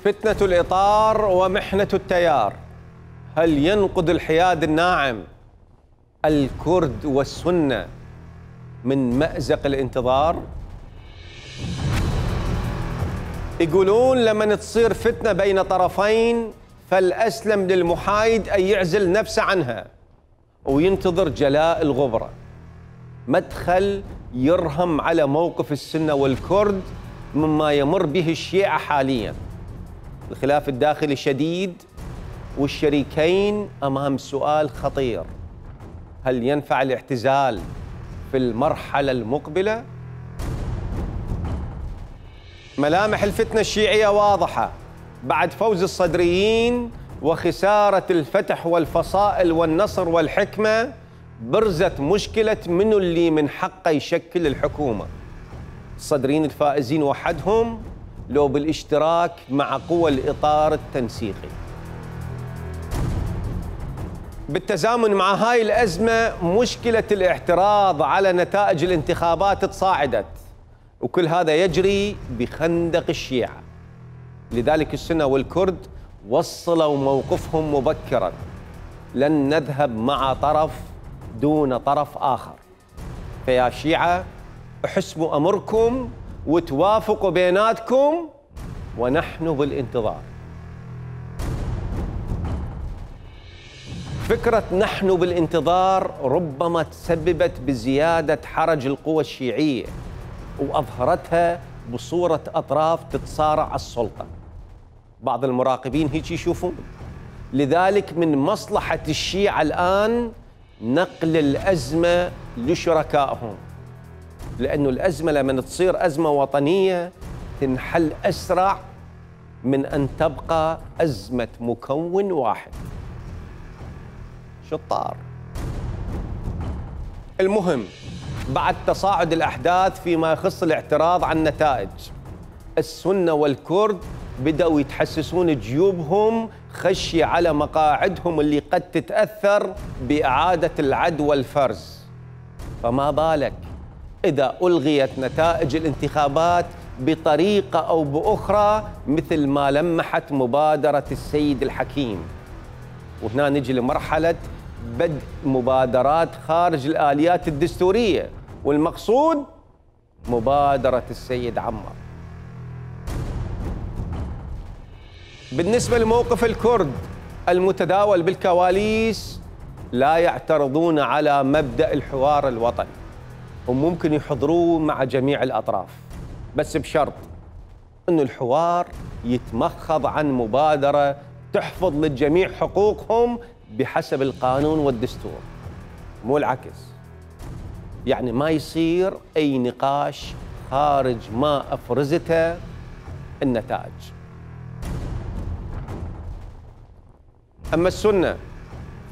فتنة الإطار ومحنة التيار، هل ينقذ الحياد الناعم الكرد والسنة من مأزق الانتظار؟ يقولون لما تصير فتنة بين طرفين فالأسلم للمحايد أن يعزل نفسه عنها وينتظر جلاء الغبرة. مدخل يرهم على موقف السنة والكرد مما يمر به الشيعة حالياً. الخلاف الداخلي شديد والشريكين أمام سؤال خطير: هل ينفع الاعتزال في المرحلة المقبلة؟ ملامح الفتنة الشيعية واضحة بعد فوز الصدريين وخسارة الفتح والفصائل والنصر والحكمة. برزت مشكلة منو اللي من حقه يشكل الحكومة، الصدريين الفائزين وحدهم لو بالاشتراك مع قوى الإطار التنسيقي. بالتزامن مع هاي الأزمة مشكلة الاعتراض على نتائج الانتخابات تصاعدت، وكل هذا يجري بخندق الشيعة. لذلك السنة والكرد وصلوا موقفهم مبكراً: لن نذهب مع طرف دون طرف آخر. فيا شيعة احسموا أمركم وتوافقوا بيناتكم ونحن بالانتظار. فكرة نحن بالانتظار ربما تسببت بزيادة حرج القوى الشيعية وأظهرتها بصورة أطراف تتصارع على السلطة. بعض المراقبين هيك يشوفون. لذلك من مصلحة الشيعة الآن نقل الأزمة لشركائهم، لأنه الأزمة لما تصير أزمة وطنية تنحل أسرع من أن تبقى أزمة مكون واحد. شطار. المهم، بعد تصاعد الأحداث فيما يخص الاعتراض عن النتائج، السنة والكرد بدأوا يتحسسون جيوبهم خشية على مقاعدهم اللي قد تتأثر بإعادة العد والفرز. فما بالك إذا ألغيت نتائج الانتخابات بطريقة أو بأخرى مثل ما لمحت مبادرة السيد الحكيم. وهنا نجي لمرحلة بدء مبادرات خارج الآليات الدستورية، والمقصود مبادرة السيد عمار. بالنسبة لموقف الكرد المتداول بالكواليس، لا يعترضون على مبدأ الحوار الوطني وممكن يحضروه مع جميع الأطراف، بس بشرط أن الحوار يتمخض عن مبادرة تحفظ للجميع حقوقهم بحسب القانون والدستور، مو العكس. يعني ما يصير أي نقاش خارج ما أفرزته النتائج. أما السنة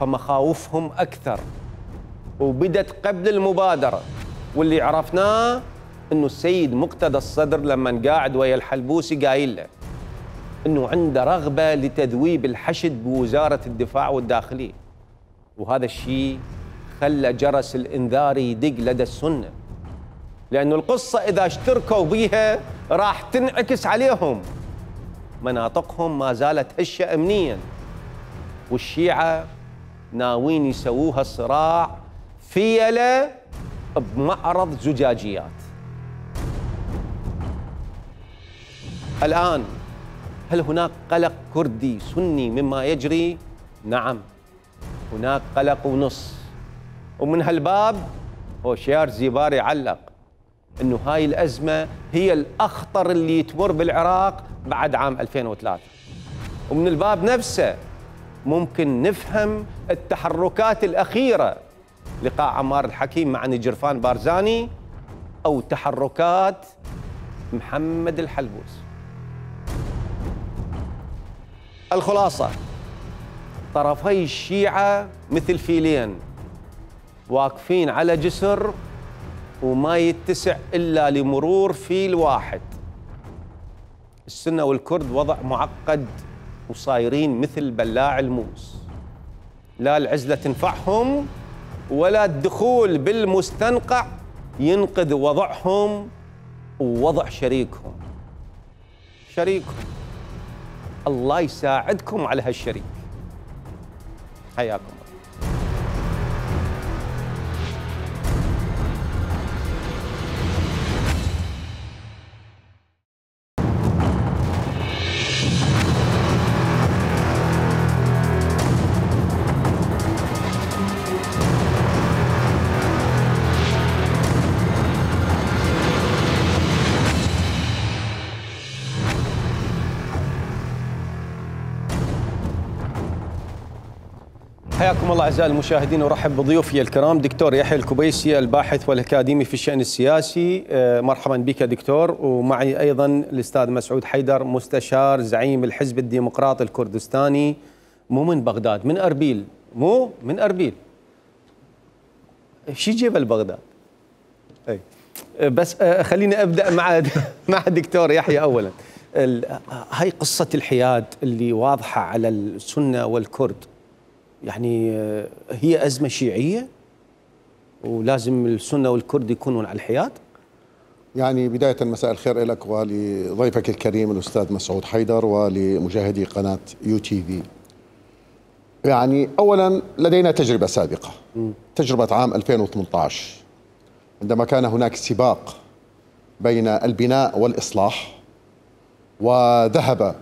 فمخاوفهم أكثر وبدت قبل المبادرة، واللي عرفناه أنه السيد مقتدى الصدر لما قاعد ويا الحلبوسي قايل له أنه عنده رغبة لتذويب الحشد بوزارة الدفاع والداخلية، وهذا الشيء خلى جرس الإنذار يدق لدى السنة، لأنه القصة إذا اشتركوا بيها راح تنعكس عليهم. مناطقهم ما زالت هشة أمنياً، والشيعة ناويين يسووها صراع فيلة بمعرض زجاجيات. الآن هل هناك قلق كردي سني مما يجري؟ نعم، هناك قلق ونص. ومن هالباب هوشيار زيباري علق أنه هاي الأزمة هي الأخطر اللي تمر بالعراق بعد عام 2003. ومن الباب نفسه ممكن نفهم التحركات الأخيرة، لقاء عمار الحكيم مع نجرفان بارزاني أو تحركات محمد الحلبوس. الخلاصة: طرفي الشيعة مثل فيلين واقفين على جسر وما يتسع إلا لمرور فيل واحد. السنة والكرد وضع معقد وصايرين مثل بلاع الموس، لا العزلة تنفعهم ولا الدخول بالمستنقع ينقذ وضعهم ووضع شريكهم. الله يساعدكم على هالشريك. حياكم الله. حياكم الله اعزائي المشاهدين، ورحب بضيوفي الكرام دكتور يحيى الكبيسي الباحث والاكاديمي في الشان السياسي. مرحبا بك دكتور. ومعي ايضا الاستاذ مسعود حيدر مستشار زعيم الحزب الديمقراطي الكردستاني، مو من بغداد، من اربيل، مو من اربيل. شي جيب بغداد؟ اي بس خليني ابدا مع الدكتور يحيى اولا. هاي قصه الحياد اللي واضحه على السنه والكرد، يعني هي أزمة شيعية ولازم السنة والكرد يكونون على الحياد؟ يعني بداية مساء الخير لك ولضيفك الكريم الأستاذ مسعود حيدر ولمشاهدي قناة UTV. يعني أولا لدينا تجربة سابقة، تجربة عام 2018 عندما كان هناك سباق بين البناء والإصلاح، وذهبت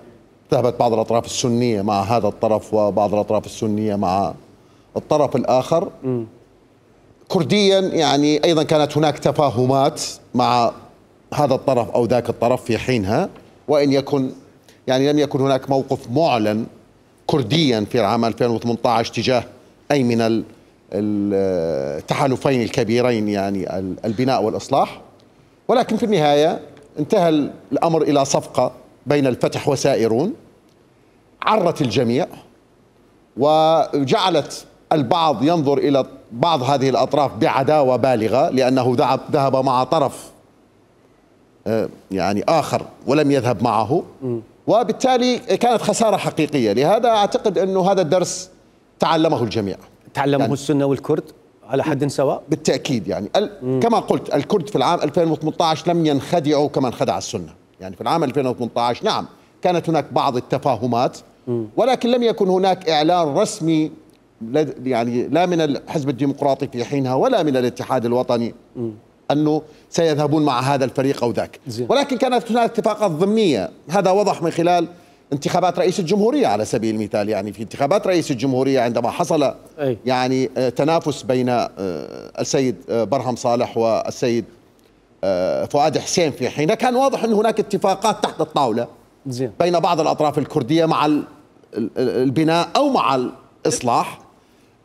بعض الأطراف السنية مع هذا الطرف وبعض الأطراف السنية مع الطرف الآخر. كرديا يعني أيضا كانت هناك تفاهمات مع هذا الطرف أو ذاك الطرف في حينها، وإن يكن يعني لم يكن هناك موقف معلن كرديا في العام 2018 تجاه أي من التحالفين الكبيرين، يعني البناء والإصلاح. ولكن في النهاية انتهى الأمر إلى صفقة بين الفتح وسائرون عرت الجميع، وجعلت البعض ينظر إلى بعض هذه الأطراف بعداوة بالغة لأنه ذهب مع طرف يعني آخر ولم يذهب معه، وبالتالي كانت خسارة حقيقية. لهذا أعتقد أنه هذا الدرس تعلمه الجميع، تعلمه يعني السنة والكرد على حد سواء بالتأكيد. يعني كما قلت الكرد في العام 2018 لم ينخدعوا كما انخدع السنة. يعني في العام 2018 نعم كانت هناك بعض التفاهمات، ولكن لم يكن هناك إعلان رسمي يعني لا من الحزب الديمقراطي في حينها ولا من الاتحاد الوطني أنه سيذهبون مع هذا الفريق أو ذاك. ولكن كانت هناك اتفاقات ضمنية، هذا وضح من خلال انتخابات رئيس الجمهورية على سبيل المثال. يعني في انتخابات رئيس الجمهورية عندما حصل يعني تنافس بين السيد برهم صالح والسيد فؤاد حسين في حينها، كان واضح أن هناك اتفاقات تحت الطاولة بين بعض الأطراف الكردية مع البناء أو مع الإصلاح.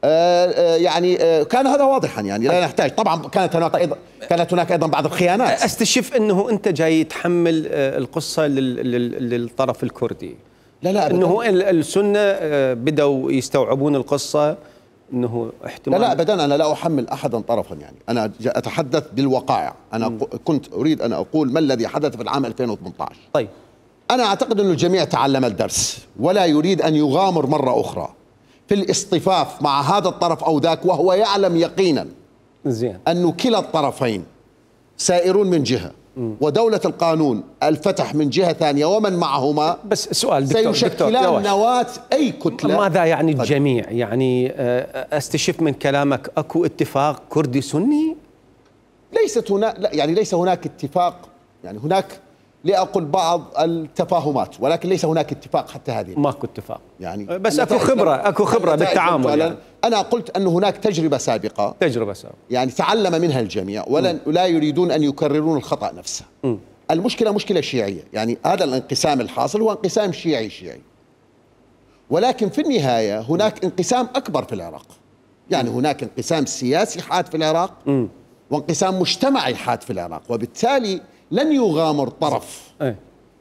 يعني كان هذا واضحا، يعني لا نحتاج. طبعا كانت هناك أيضا بعض الخيانات. استشف أنه أنت جاي تحمل القصة للطرف الكردي. لا أنه السنة بدأوا يستوعبون القصة، أنه احتمال. لا أبدا، أنا لا أحمل أحدا طرفا. يعني أنا أتحدث بالوقائع. أنا كنت أريد أن أقول ما الذي حدث في العام 2018. طيب أنا أعتقد أن الجميع تعلم الدرس ولا يريد أن يغامر مرة أخرى في الاصطفاف مع هذا الطرف أو ذاك، وهو يعلم يقينا أن كلا الطرفين سائرون من جهة ودولة القانون الفتح من جهة ثانية ومن معهما. بس سؤال دكتور، سيشكلان نواة أي كتلة. ماذا يعني الجميع؟ يعني استشف من كلامك أكو اتفاق كردي سني؟ ليست هناك، يعني ليس هناك اتفاق. يعني هناك لأقول بعض التفاهمات، ولكن ليس هناك اتفاق حتى هذه. ماكو اتفاق يعني بس اكو خبره بالتعامل. يعني انا قلت ان هناك تجربه سابقه يعني تعلم منها الجميع ولا يريدون ان يكررون الخطأ نفسه. المشكله مشكله شيعيه، يعني هذا الانقسام الحاصل هو انقسام شيعي، ولكن في النهايه هناك انقسام اكبر في العراق. يعني هناك انقسام سياسي حاد في العراق وانقسام مجتمعي حاد في العراق، وبالتالي لن يغامر طرف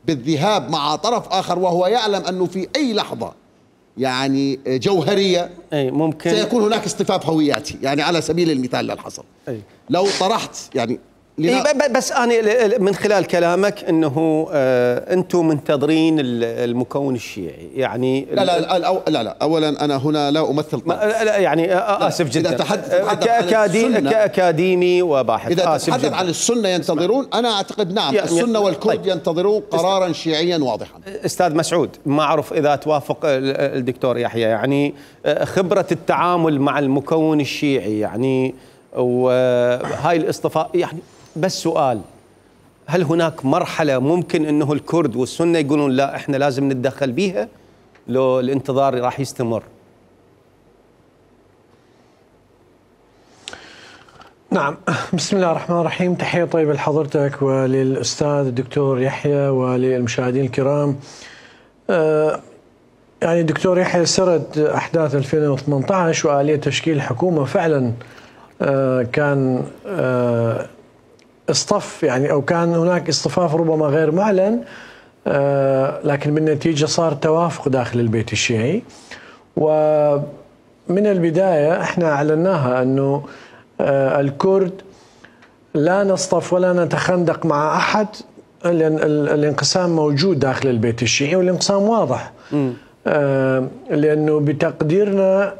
بالذهاب مع طرف آخر وهو يعلم أنه في أي لحظة يعني جوهرية ممكن سيكون هناك اصطفاف هوياتي. يعني على سبيل المثال للحصر، لو طرحت يعني بس أنا من خلال كلامك أنه أنتم منتظرين المكون الشيعي يعني لا أولا أنا هنا لا أمثل طرف. يعني آسف جدا كأكاديمي وباحث إذا تتحدث عن السنة ينتظرون، أنا أعتقد نعم السنة والكرد طيب. ينتظرون قرارا شيعيا واضحا. أستاذ مسعود، ما أعرف إذا توافق الدكتور يحيى، يعني خبرة التعامل مع المكون الشيعي يعني وهاي الاصطفاء، يعني بس سؤال، هل هناك مرحلة ممكن أنه الكرد والسنة يقولون لا إحنا لازم نتدخل بيها لو الانتظار راح يستمر؟ نعم، بسم الله الرحمن الرحيم. تحية طيبة لحضرتك وللأستاذ الدكتور يحيى وللمشاهدين الكرام. يعني الدكتور يحيى سرد أحداث 2018 وآلية تشكيل الحكومة. فعلا كان اصطف يعني أو كان هناك اصطفاف ربما غير معلن، لكن بالنتيجة صار توافق داخل البيت الشيعي. ومن البداية احنا أعلناها أنه الكرد لا نصطف ولا نتخندق مع أحد، لأن الانقسام موجود داخل البيت الشيعي والانقسام واضح. لأنه بتقديرنا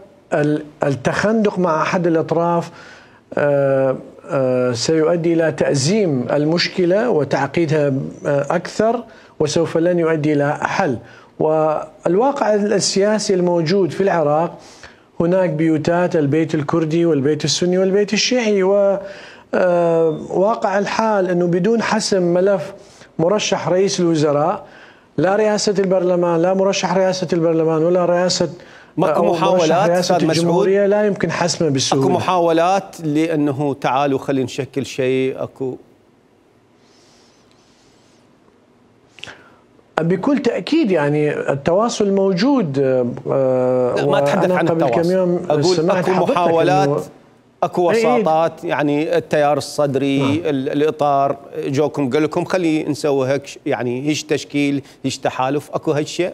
التخندق مع أحد الأطراف سيؤدي إلى تأزيم المشكلة وتعقيدها أكثر، وسوف لن يؤدي إلى حل. والواقع السياسي الموجود في العراق هناك بيوتات البيت الكردي والبيت السني والبيت الشيعي، وواقع الحال أنه بدون حسم ملف مرشح رئيس الوزراء، لا رئاسة البرلمان، لا مرشح رئاسة البرلمان ولا رئاسة ماكو محاولات رئاسة الجمهورية لا يمكن حسمه بسهولة. اكو محاولات لأنه تعالوا خلينا نشكل شيء؟ اكو بكل تأكيد يعني التواصل موجود. ما أتحدث عن التواصل، أقول أكو محاولات، أكو وساطات، يعني التيار الصدري الإطار جوكم قال لكم خلي نسوي هيك، يعني هيش تشكيل هيش تحالف، أكو هالشيء؟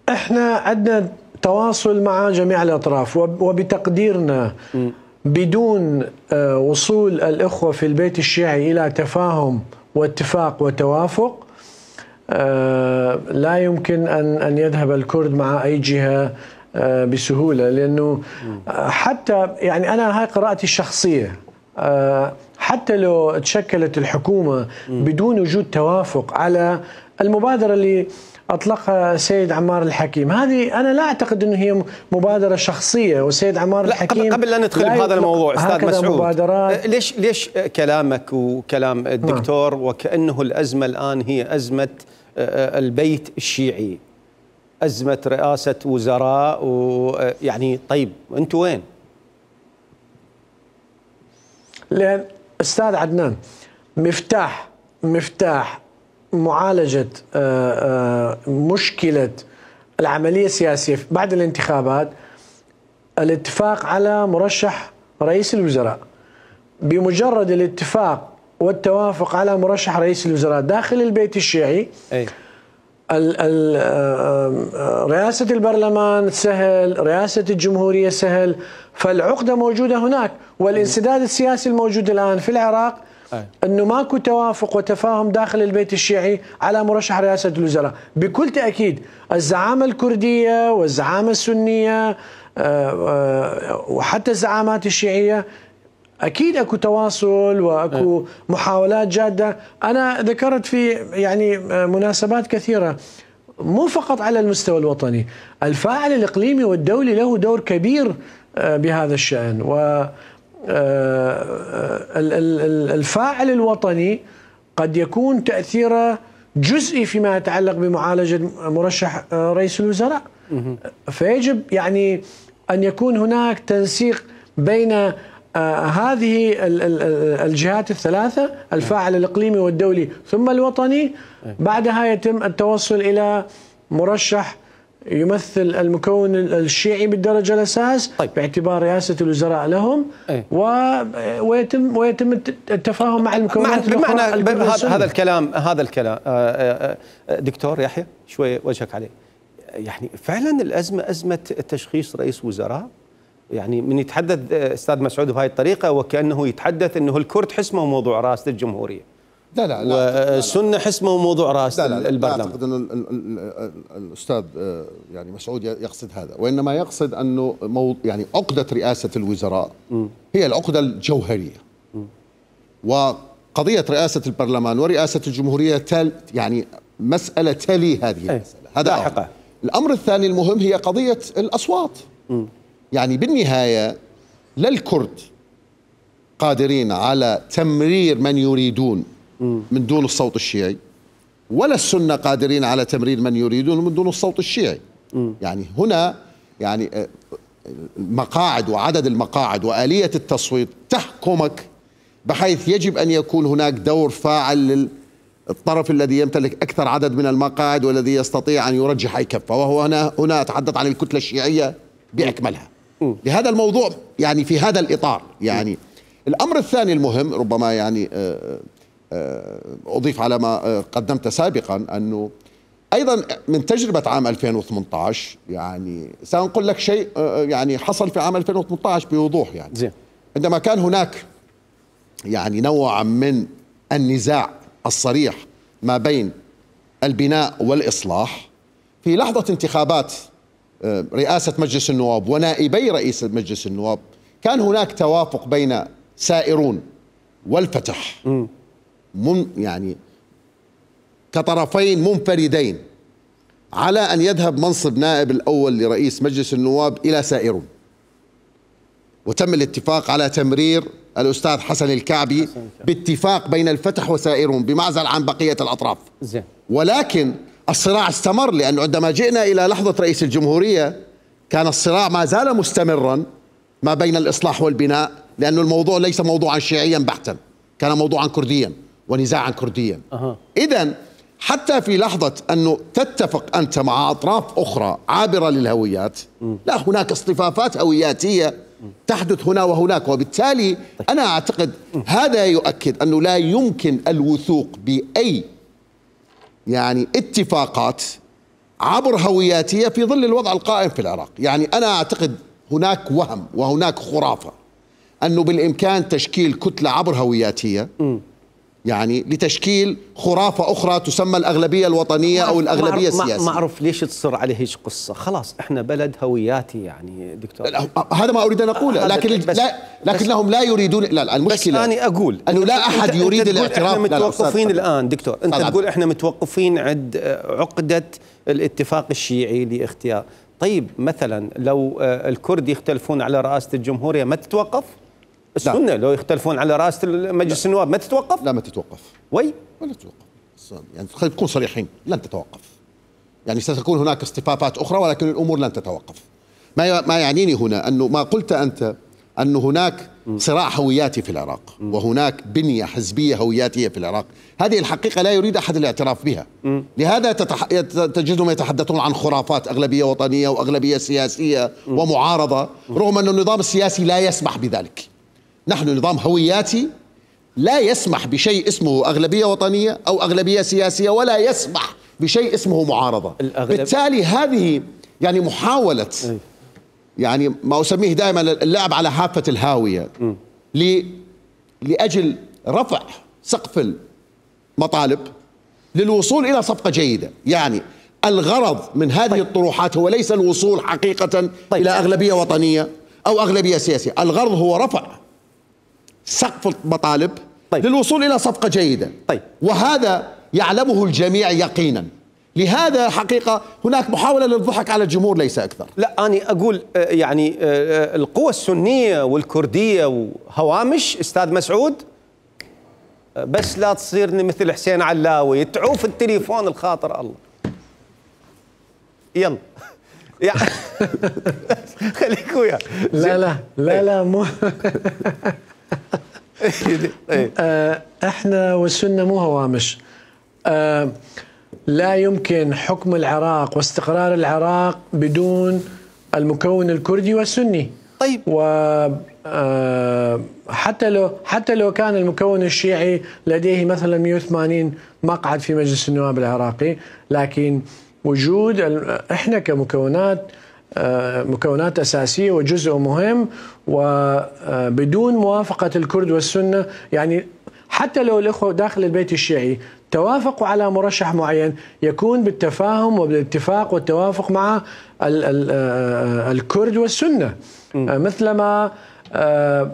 احنا عندنا تواصل مع جميع الأطراف، وبتقديرنا بدون وصول الإخوة في البيت الشيعي إلى تفاهم واتفاق وتوافق لا يمكن أن يذهب الكرد مع أي جهة بسهولة. لأنه حتى يعني أنا هاي قراءتي الشخصية، حتى لو تشكلت الحكومة بدون وجود توافق على المبادرة اللي أطلقها السيد عمار الحكيم، هذه أنا لا أعتقد أنه هي مبادرة شخصية، والسيد عمار الحكيم قبل لا ندخل بهذا الموضوع أستاذ مسعود، ليش كلامك وكلام الدكتور وكأنه الأزمة الآن هي أزمة البيت الشيعي، أزمة رئاسة وزراء، ويعني طيب أنتوا وين؟ لأن أستاذ عدنان، مفتاح معالجة مشكلة العملية السياسية بعد الانتخابات الاتفاق على مرشح رئيس الوزراء. بمجرد الاتفاق والتوافق على مرشح رئيس الوزراء داخل البيت الشيعي، رئاسة البرلمان سهل، رئاسة الجمهورية سهل، فالعقدة موجودة هناك. والانسداد السياسي الموجود الآن في العراق أنه ماكو توافق وتفاهم داخل البيت الشيعي على مرشح رئاسة الوزراء. بكل تأكيد الزعامة الكردية والزعامة السنية وحتى الزعامات الشيعية أكيد أكو تواصل وأكو محاولات جادة. أنا ذكرت في يعني مناسبات كثيرة، مو فقط على المستوى الوطني، الفاعل الإقليمي والدولي له دور كبير بهذا الشأن. و الفاعل الوطني قد يكون تأثيره جزئي فيما يتعلق بمعالجة مرشح رئيس الوزراء، فيجب يعني أن يكون هناك تنسيق بين هذه الجهات الثلاثة، الفاعل الإقليمي والدولي ثم الوطني. بعدها يتم التوصل إلى مرشح يمثل المكون الشيعي بالدرجة الأساس، طيب. باعتبار رئاسة الوزراء لهم، ويتم التفاهم مع المكونات بمعنى هذا الكلام دكتور يحيى شوي وجهك عليه، يعني فعلا الأزمة أزمة تشخيص رئيس وزراء، يعني من يتحدث استاذ مسعود بهاي الطريقه وكانه يتحدث انه الكرد حسموا موضوع رئاسه الجمهوريه. لا والسنه حسموا موضوع رئاسه البرلمان. لا اعتقد انه الاستاذ يعني مسعود يقصد هذا، وانما يقصد انه يعني عقده رئاسه الوزراء هي العقده الجوهريه. وقضيه رئاسه البرلمان ورئاسه الجمهوريه يعني مساله تلي هذه المساله. هذا أمر. الامر الثاني المهم هي قضيه الاصوات. يعني بالنهايه لا الكرد قادرين على تمرير من يريدون من دون الصوت الشيعي، ولا السنة قادرين على تمرير من يريدون من دون الصوت الشيعي. يعني هنا يعني المقاعد وعدد المقاعد وآلية التصويت تحكمك، بحيث يجب أن يكون هناك دور فاعل للطرف الذي يمتلك أكثر عدد من المقاعد والذي يستطيع أن يرجح أي كفة، وهو هنا أتحدث عن الكتلة الشيعية بأكملها. لهذا الموضوع يعني في هذا الإطار. يعني الأمر الثاني المهم ربما يعني أضيف على ما قدمت سابقا أنه أيضا من تجربة عام 2018 يعني سأنقل لك شيء يعني حصل في عام 2018 بوضوح. يعني عندما كان هناك يعني نوع من النزاع الصريح ما بين البناء والإصلاح في لحظة انتخابات رئاسة مجلس النواب ونائبي رئيس مجلس النواب، كان هناك توافق بين سائرون والفتح يعني كطرفين منفردين على أن يذهب منصب نائب الأول لرئيس مجلس النواب إلى سائرون، وتم الاتفاق على تمرير الأستاذ حسن الكعبي باتفاق بين الفتح وسائرون بمعزل عن بقية الأطراف. ولكن الصراع استمر، لأنه عندما جئنا إلى لحظة رئيس الجمهورية كان الصراع ما زال مستمرا ما بين الإصلاح والبناء، لأن الموضوع ليس موضوعا شيعيا بحتا، كان موضوعا كرديا ونزاعا كرديا. إذن حتى في لحظة أنه تتفق أنت مع أطراف أخرى عابرة للهويات، لا هناك اصطفافات هوياتية تحدث هنا وهناك. وبالتالي أنا أعتقد هذا يؤكد أنه لا يمكن الوثوق بأي يعني اتفاقات عبر هوياتية في ظل الوضع القائم في العراق. يعني أنا أعتقد هناك وهم وهناك خرافة أنه بالإمكان تشكيل كتلة عبر هوياتية يعني لتشكيل خرافة أخرى تسمى الأغلبية الوطنية أو الأغلبية السياسية. ما أعرف ليش تصر عليه هيك قصة. خلاص إحنا بلد هوياتي يعني دكتور. هذا ما أريد أن أقوله، لكنهم لا يريدون. لا المشكلة بس أنا أقول أنه لا أحد يريد الاعتراف. إحنا متوقفين الآن دكتور، أنت تقول إحنا متوقفين عند عقدة الاتفاق الشيعي لاختيار. طيب مثلا لو الكرد يختلفون على رئاسة الجمهورية ما تتوقف؟ السنة لو يختلفون على رئاسة مجلس النواب ما تتوقف؟ لا ما تتوقف. ولا تتوقف. يعني خلينا نكون صريحين، لن تتوقف. يعني ستكون هناك اصطفافات أخرى ولكن الأمور لن تتوقف. ما يعنيني هنا أنه ما قلت أنت أنه هناك صراع هوياتي في العراق وهناك بنية حزبية هوياتية في العراق، هذه الحقيقة لا يريد أحد الاعتراف بها. لهذا تجدهم يتحدثون عن خرافات أغلبية وطنية وأغلبية سياسية ومعارضة، رغم أن النظام السياسي لا يسمح بذلك. نحن نظام هوياتي لا يسمح بشيء اسمه أغلبية وطنية أو أغلبية سياسية، ولا يسمح بشيء اسمه معارضة. بالتالي هذه يعني محاولة يعني ما أسميه دائما اللعب على حافة الهاوية لأجل رفع سقف المطالب للوصول إلى صفقة جيدة. يعني الغرض من هذه الطروحات هو ليس الوصول حقيقة إلى أغلبية وطنية أو أغلبية سياسية، الغرض هو رفع سقف المطالب للوصول إلى صفقة جيدة. وهذا يعلمه الجميع يقينا. لهذا حقيقة هناك محاولة للضحك على الجمهور ليس أكثر. لا أنا أقول يعني القوى السنية والكردية وهوامش أستاذ مسعود، بس لا تصيرني مثل حسين علاوي تعوف التليفون الخاطر الله. يلا خليك وياه. لا مو احنا والسنة مو هوامش. لا يمكن حكم العراق واستقرار العراق بدون المكون الكردي والسني. طيب حتى لو كان المكون الشيعي لديه مثلا 180 مقعد في مجلس النواب العراقي، لكن وجود احنا كمكونات مكونات أساسية وجزء مهم، وبدون موافقة الكرد والسنة يعني حتى لو الإخوة داخل البيت الشيعي توافقوا على مرشح معين يكون بالتفاهم وبالاتفاق والتوافق مع الكرد والسنة، مثلما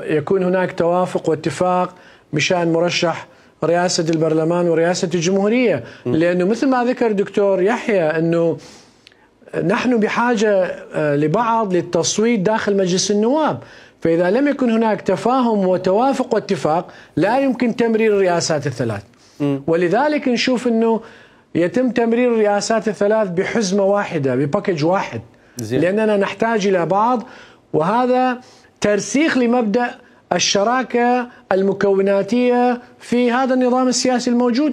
يكون هناك توافق واتفاق بشأن مرشح رئاسة البرلمان ورئاسة الجمهورية. لأنه مثل ما ذكر دكتور يحيى أنه نحن بحاجة لبعض للتصويت داخل مجلس النواب، فإذا لم يكن هناك تفاهم وتوافق واتفاق لا يمكن تمرير الرئاسات الثلاث. ولذلك نشوف أنه يتم تمرير الرئاسات الثلاث بحزمة واحدة بباكج واحد، لأننا نحتاج إلى بعض، وهذا ترسيخ لمبدأ الشراكة المكوناتية في هذا النظام السياسي الموجود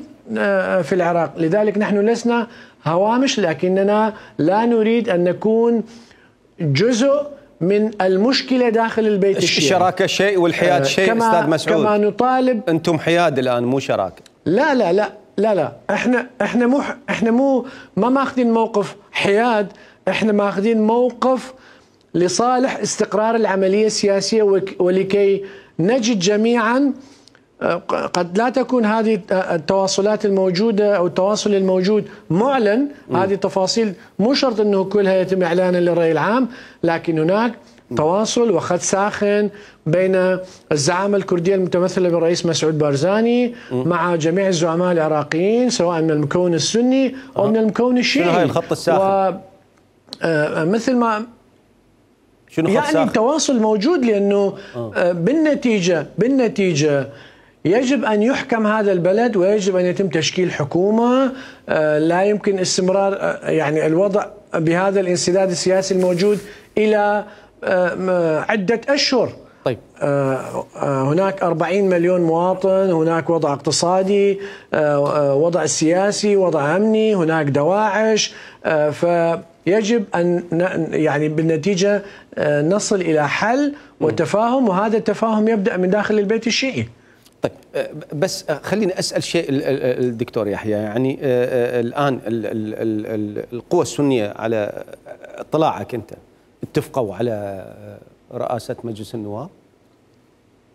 في العراق. لذلك نحن لسنا هوامش، لكننا لا نريد أن نكون جزء من المشكلة داخل البيت الشيعي. الشراكة شيء والحياد شيء أستاذ مسعود. كما نطالب. أنتم حياد الآن مو شراكة. لا لا لا لا لا احنا مو ما ماخذين موقف حياد، احنا ماخذين موقف لصالح استقرار العملية السياسية، ولكي نجد جميعا قد لا تكون هذه التواصلات الموجودة أو التواصل الموجود معلن. هذه التفاصيل مو شرط أنه كلها يتم إعلانها للرأي العام، لكن هناك تواصل وخط ساخن بين الزعامة الكردية المتمثلة بالرئيس مسعود بارزاني مع جميع الزعماء العراقيين سواء من المكون السني أو من المكون الشيعي. شنو هاي الخط الساخن؟ مثل ما شنو يعني التواصل موجود، لأنه بالنتيجة يجب أن يحكم هذا البلد ويجب أن يتم تشكيل حكومة. لا يمكن استمرار يعني الوضع بهذا الانسداد السياسي الموجود إلى عدة أشهر. طيب هناك 40 مليون مواطن، هناك وضع اقتصادي، وضع سياسي، وضع أمني، هناك دواعش، فيجب أن يعني بالنتيجة نصل إلى حل وتفاهم، وهذا التفاهم يبدأ من داخل البيت الشيعي. طيب بس خليني أسأل شيء الدكتور يحيى، يعني الآن القوى السنية على اطلاعك أنت اتفقوا على رئاسة مجلس النواب؟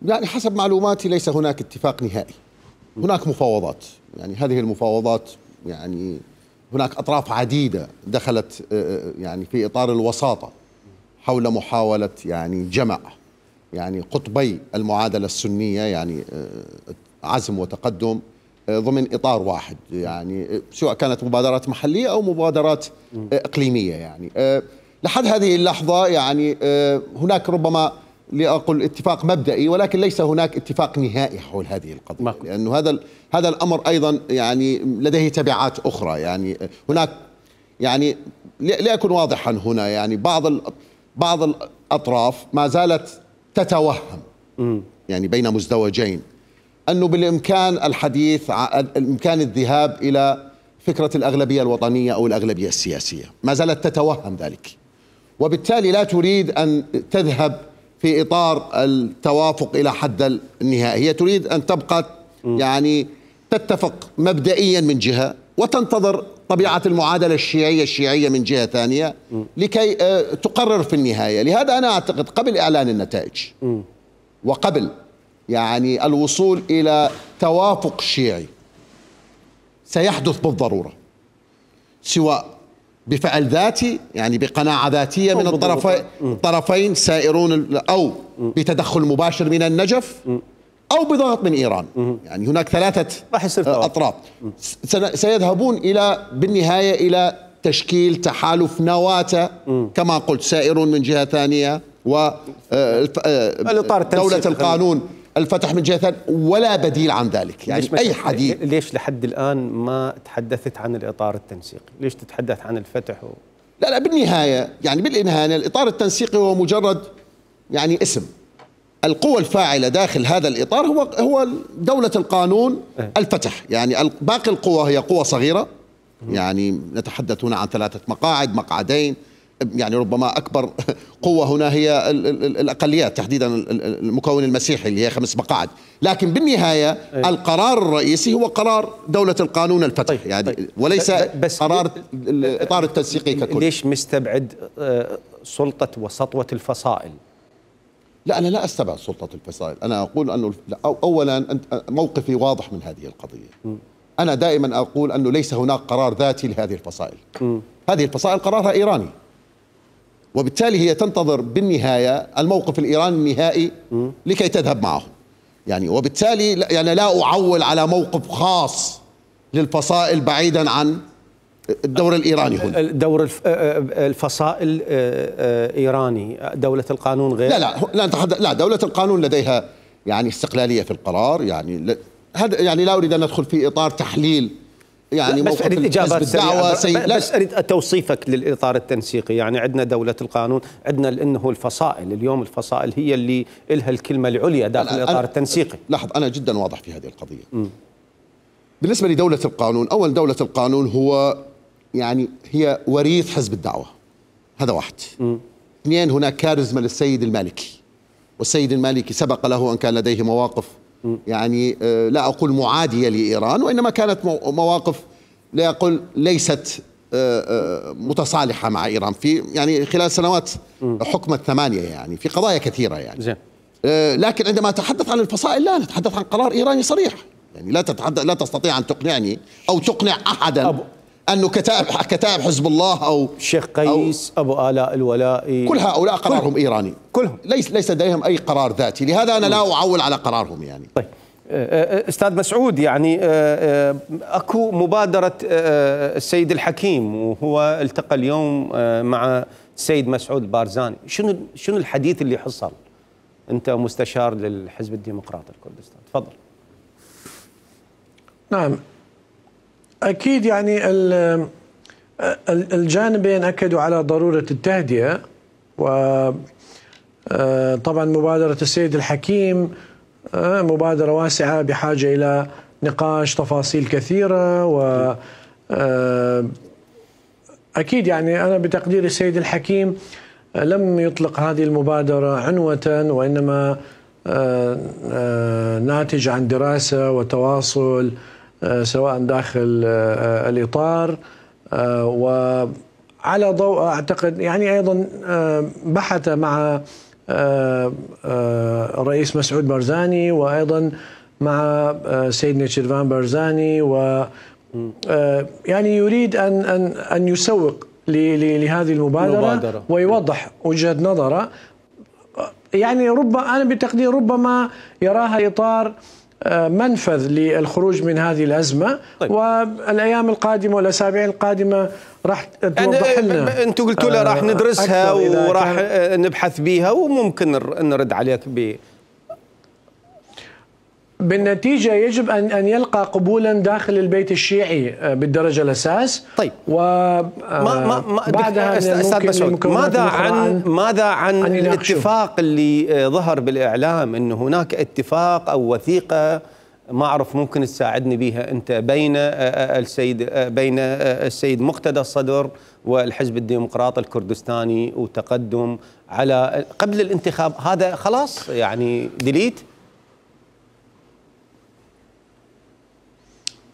يعني حسب معلوماتي ليس هناك اتفاق نهائي، هناك مفاوضات. يعني هذه المفاوضات يعني هناك أطراف عديدة دخلت يعني في إطار الوساطة حول محاولة يعني جمع يعني قطبي المعادلة السنية، يعني عزم وتقدم ضمن إطار واحد، يعني سواء كانت مبادرات محلية أو مبادرات إقليمية. يعني لحد هذه اللحظة يعني هناك ربما لأقول اتفاق مبدئي، ولكن ليس هناك اتفاق نهائي حول هذه القضية، لأنه هذا الأمر أيضا يعني لديه تبعات أخرى. يعني هناك يعني لأكون واضحا هنا، يعني بعض الأطراف ما زالت تتوهم يعني بين مزدوجين أنه بالإمكان الحديث الإمكان الذهاب إلى فكرة الأغلبية الوطنية أو الأغلبية السياسية، ما زالت تتوهم ذلك، وبالتالي لا تريد أن تذهب في إطار التوافق إلى حد النهائي. هي تريد أن تبقى يعني تتفق مبدئيا من جهة، وتنتظر طبيعة المعادلة الشيعية من جهة ثانية لكي تقرر في النهاية. لهذا أنا أعتقد قبل إعلان النتائج وقبل يعني الوصول إلى توافق شيعي سيحدث بالضرورة، سواء بفعل ذاتي يعني بقناعة ذاتية من الطرفين سائرون، أو بتدخل مباشر من النجف، أو بضغط من إيران. يعني هناك ثلاثة أطراف سيذهبون بالنهاية إلى تشكيل تحالف نواة كما قلت، سائرون من جهة ثانية، ودولة القانون الفتح من جهة ثانية، ولا بديل عن ذلك. يعني أي حديث. ليش لحد الآن ما تحدثت عن الإطار التنسيقي؟ ليش تتحدث عن الفتح لا بالنهاية يعني بالنهاية الإطار التنسيقي هو مجرد يعني اسم. القوة الفاعلة داخل هذا الإطار هو دولة القانون الفتح. يعني باقي القوى هي قوى صغيرة، يعني نتحدث هنا عن 3 مقاعد، مقعدين، يعني ربما أكبر قوة هنا هي الأقليات، تحديدا المكون المسيحي اللي هي 5 مقاعد. لكن بالنهاية القرار الرئيسي هو قرار دولة القانون الفتح. يعني وليس قرار الإطار التنسيقي ككل. ليش مستبعد سلطة وسطوة الفصائل. لا، أنا لا أستبعد سلطة الفصائل. أنا أقول أنه أولا موقفي واضح من هذه القضية. أنا دائما أقول أنه ليس هناك قرار ذاتي لهذه الفصائل. هذه الفصائل قرارها إيراني، وبالتالي هي تنتظر بالنهاية الموقف الإيراني النهائي لكي تذهب معه. يعني وبالتالي يعني لا أعول على موقف خاص للفصائل بعيدا عن الدور الإيراني هنا. دور الفصائل إيراني، دولة القانون غير. لا دولة القانون لديها يعني استقلالية في القرار. يعني هذا يعني لا أريد أن ندخل في إطار تحليل يعني بس أريد حزب الدعوة بس أريد توصيفك للإطار التنسيقي. يعني عندنا دولة القانون، عندنا إنه الفصائل اليوم، الفصائل هي اللي إلها الكلمة العليا داخل الإطار التنسيقي. لاحظ، أنا جدا واضح في هذه القضية. بالنسبة لدولة القانون، أول دولة القانون هو يعني هي وريث حزب الدعوة، هذا واحد. اثنين، هناك كاريزما للسيد المالكي، والسيد المالكي سبق له أن كان لديه مواقف يعني لا أقول معادية لإيران، وإنما كانت مواقف لا أقول ليست متصالحة مع إيران في يعني خلال سنوات حكم الثمانية يعني في قضايا كثيرة يعني. زين. لكن عندما أتحدث عن الفصائل لا نتحدث عن قرار إيراني صريح. يعني لا تستطيع أن تقنعني أو تقنع أحدا أنه كتائب حزب الله أو الشيخ قيس أو أبو آلاء الولائي، كل هؤلاء قرارهم إيراني كلهم، ليس لديهم أي قرار ذاتي. لهذا أنا لا أعول على قرارهم يعني. طيب أستاذ مسعود، يعني أكو مبادرة السيد الحكيم، وهو التقى اليوم مع السيد مسعود بارزاني. شنو الحديث اللي حصل؟ أنت مستشار للحزب الديمقراطي الكردستاني، تفضل. نعم، أكيد يعني الجانبين أكدوا على ضرورة التهدئة، وطبعا مبادرة السيد الحكيم مبادرة واسعة بحاجة إلى نقاش تفاصيل كثيرة. و أكيد يعني أنا بتقدير السيد الحكيم لم يطلق هذه المبادرة عنوة، وإنما ناتج عن دراسة وتواصل سواء داخل الإطار، وعلى ضوء أعتقد يعني أيضا بحث مع الرئيس مسعود بارزاني، وأيضا مع سيدنا شيرفان بارزاني، و يعني يريد أن يسوق لهذه المبادرة ويوضح وجهة نظره. يعني أنا بتقدير ربما يراها إطار منفذ للخروج من هذه الأزمة. طيب. والأيام القادمة والأسابيع القادمة راح توضح لنا. أنتم قلتوا له راح ندرسها وراح نبحث بيها وممكن نرد عليك بالنتيجة يجب أن يلقى قبولا داخل البيت الشيعي بالدرجة الأساس. طيب، بعدها ماذا عن الاتفاق اللي ظهر بالإعلام، أنه هناك اتفاق أو وثيقة، ما أعرف ممكن تساعدني بها أنت، بين السيد مقتدى الصدر والحزب الديمقراطي الكردستاني وتقدم على قبل الانتخاب، هذا خلاص يعني ديليت؟